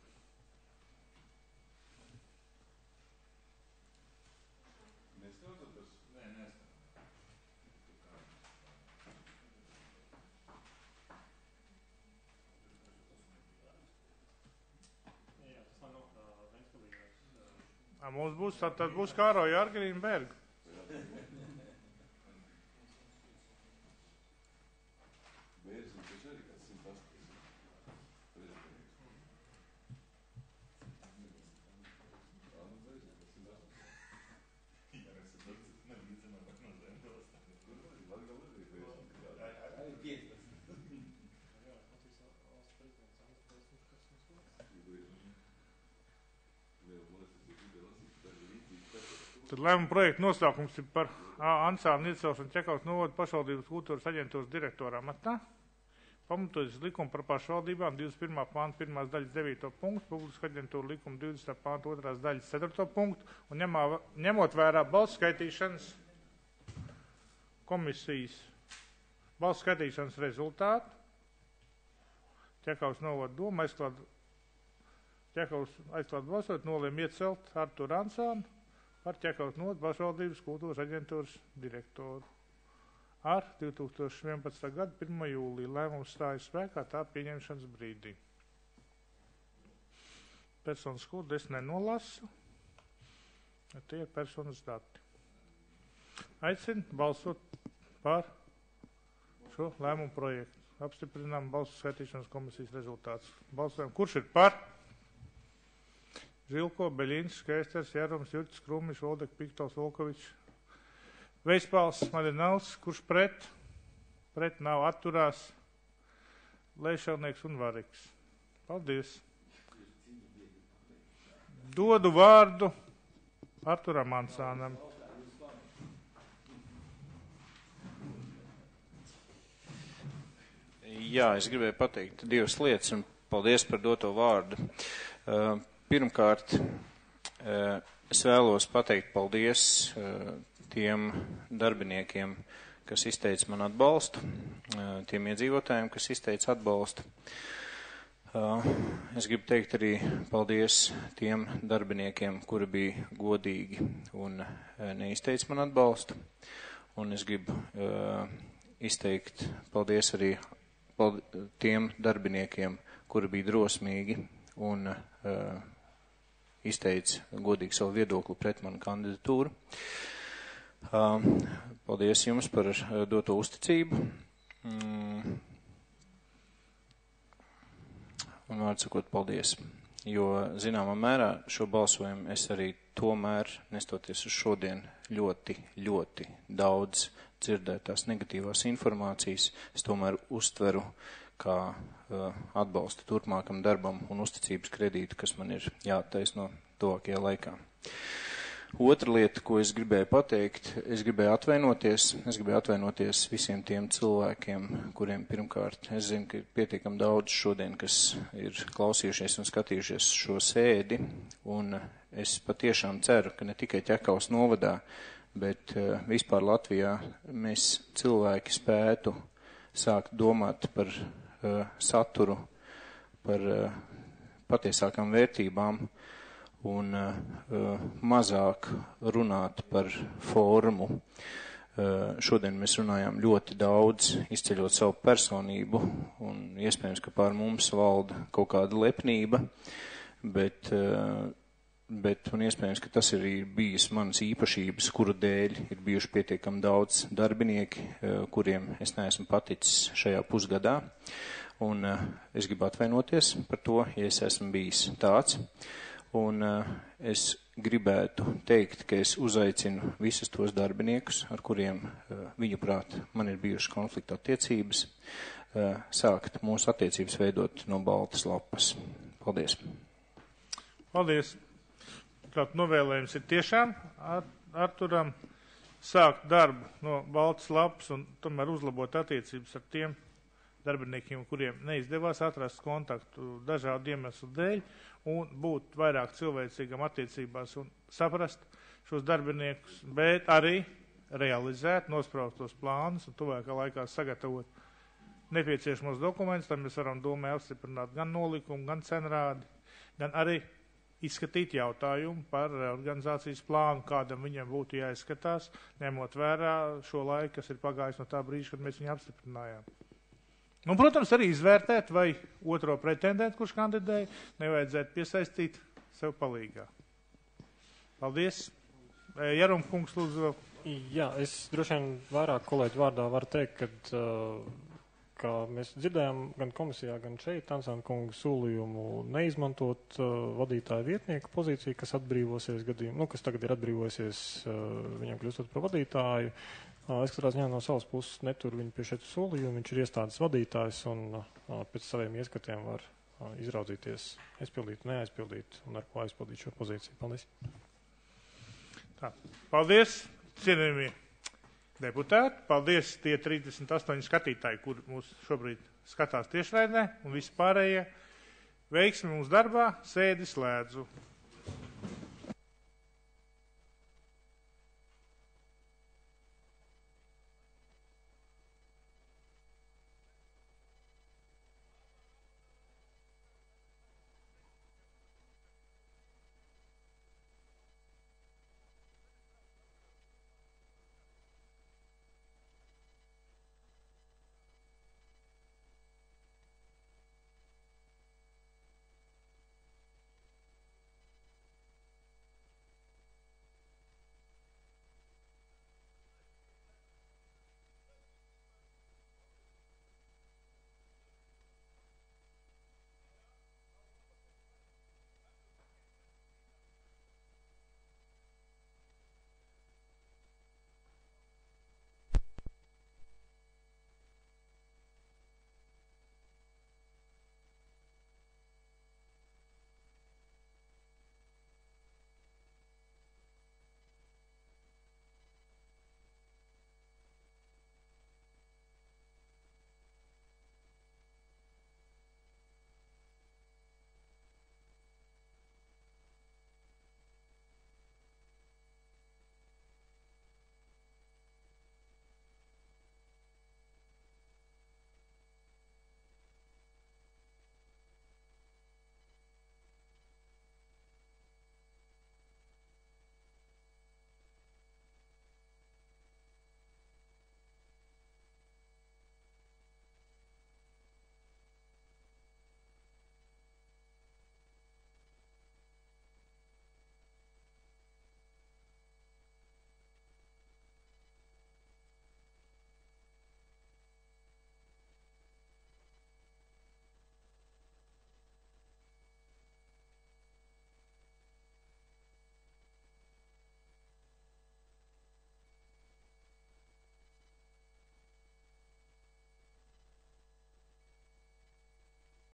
Mums būs, tad būs Kāroja Argerīna Berga. Tad lēmuma projekta nosaukums ir par Ansānu iecelšanu Čekavas novada pašvaldības kultūras aģentūras direktora amatā. Pamatojas likuma par pašvaldībām 21. pānta 1. daļas 9. punktu, publiska aģentūra likuma 20. pānta 2. daļas 4. punktu un ņemot vērā balsu skaitīšanas komisijas balsu skaitīšanas rezultātu. Čekavas novada doma aizklāt balsot, nolēma iecelt Arturu Ansānu par Čekavas novada pašvaldības kultūras aģentūras direktoru. Ar 2011. gada 1. jūliju lēmums stājas spēkā tā pieņemšanas brīdī. Personas kodu es nenolasu, tie ir personas dati. Aicinu balsot par šo lēmumu projektu. Apstiprinām balsu skaitīšanas komisijas rezultātus. Balsojam, kurš ir par? Žilko, Beļins, Skaisters, Jārums, Jurķis, Krūmiņš, Voldek, Piktovs, Volkovičs, Veispāls, Maļināls, kurš pret? Pret nav, atturās, Leišalnieks un Variks. Paldies. Dodu vārdu Arturam Ansānam. Jā, es gribēju pateikt 2 lietas un paldies par doto vārdu. Pirmkārt, es vēlos pateikt paldies tiem darbiniekiem, kas izteica man atbalstu, tiem iedzīvotājiem, kas izteica atbalstu. Es gribu teikt arī paldies tiem darbiniekiem, kuri bija godīgi un neizteica man atbalstu. Un es gribu izteikt paldies arī tiem darbiniekiem, kuri bija drosmīgi un izteica godīgi savu viedokli pret manu kandidatūru. Paldies jums par doto uzticību. Un vārdsakot paldies, jo zināmā mērā šo balsojumu es arī tomēr, nestoties uz šodien, ļoti daudz dzirdētās negatīvās informācijas, es tomēr uztveru kā atbalstu turpmākam darbam un uzticības kredītu, kas man ir jāattaisno tuvākajā laikā. Otra lieta, ko es gribēju pateikt, es gribēju atvainoties visiem tiem cilvēkiem, kuriem pirmkārt, es zinu, ka ir pietiekami daudz šodien, kas ir klausījušies un skatījušies šo sēdi, un es patiešām ceru, ka ne tikai Ķekaus novadā, bet vispār Latvijā mēs cilvēki spētu sākt domāt par saturu, par patiesākām vērtībām un mazāk runāt par formu. Šodien mēs runājām ļoti daudz, izceļot savu personību, un iespējams, ka pār mums valda kaut kāda lepnība, bet un iespējams, ka tas ir bijis manas īpašības, kuru dēļ ir bijuši pietiekami daudz darbinieki, kuriem es neesmu paticis šajā pusgadā. Un es gribu atvainoties par to, ja es esmu bijis tāds. Un es gribētu teikt, ka es uzaicinu visus tos darbiniekus, ar kuriem viņuprāt man ir bijušas konflikta attiecības, sākt mūsu attiecības veidot no baltas lapas. Paldies. Paldies. Tātad novēlējums ir tiešām Arturam sākt darbu no baltas lapas un tomēr uzlabot attiecības ar tiem darbiniekiem, kuriem neizdevās atrast kontaktu dažādu iemeslu dēļ un būt vairāk cilvēcīgam attiecībās un saprast šos darbiniekus, bet arī realizēt nospraustos plānus un tuvākā laikā sagatavot nepieciešamos dokumentus, tad mēs varam domē apstiprināt gan nolikumu, gan cenrādi, gan arī izskatīt jautājumu par reorganizācijas plānu, kādam viņam būtu jāizskatās, ņemot vērā šo laiku, kas ir pagājis no tā brīža, kad mēs viņu apstiprinājām. Un, protams, arī izvērtēt, vai otro pretendentu, kurš kandidēja, nevajadzētu piesaistīt sev palīgā. Paldies. Jarumkungs, lūdzu. Jā, es droši vien vairāk kolēģu vārdā varu teikt, ka mēs dzirdējām gan komisijā, gan šeit Tansāna kungu solījumu neizmantot vadītāju vietnieku pozīciju, kas atbrīvosies gadījumu, kas tagad ir atbrīvosies viņam kļūstot par vadītāju. Es katrā ziņā no savas puses neturu viņu pie šeit solījumu, viņš ir iestādes vadītājs un pēc saviem ieskatiem var izraudzīties, aizpildīt, neaizpildīt un ar ko aizpildīt šo pozīciju. Paldies. Tā. Paldies, cienījamie deputāti. Paldies tie 38 skatītāji, kur mūs šobrīd skatās tiešraidē un visi pārējie. Veiksmi mums darbā, sēdi slēdzu.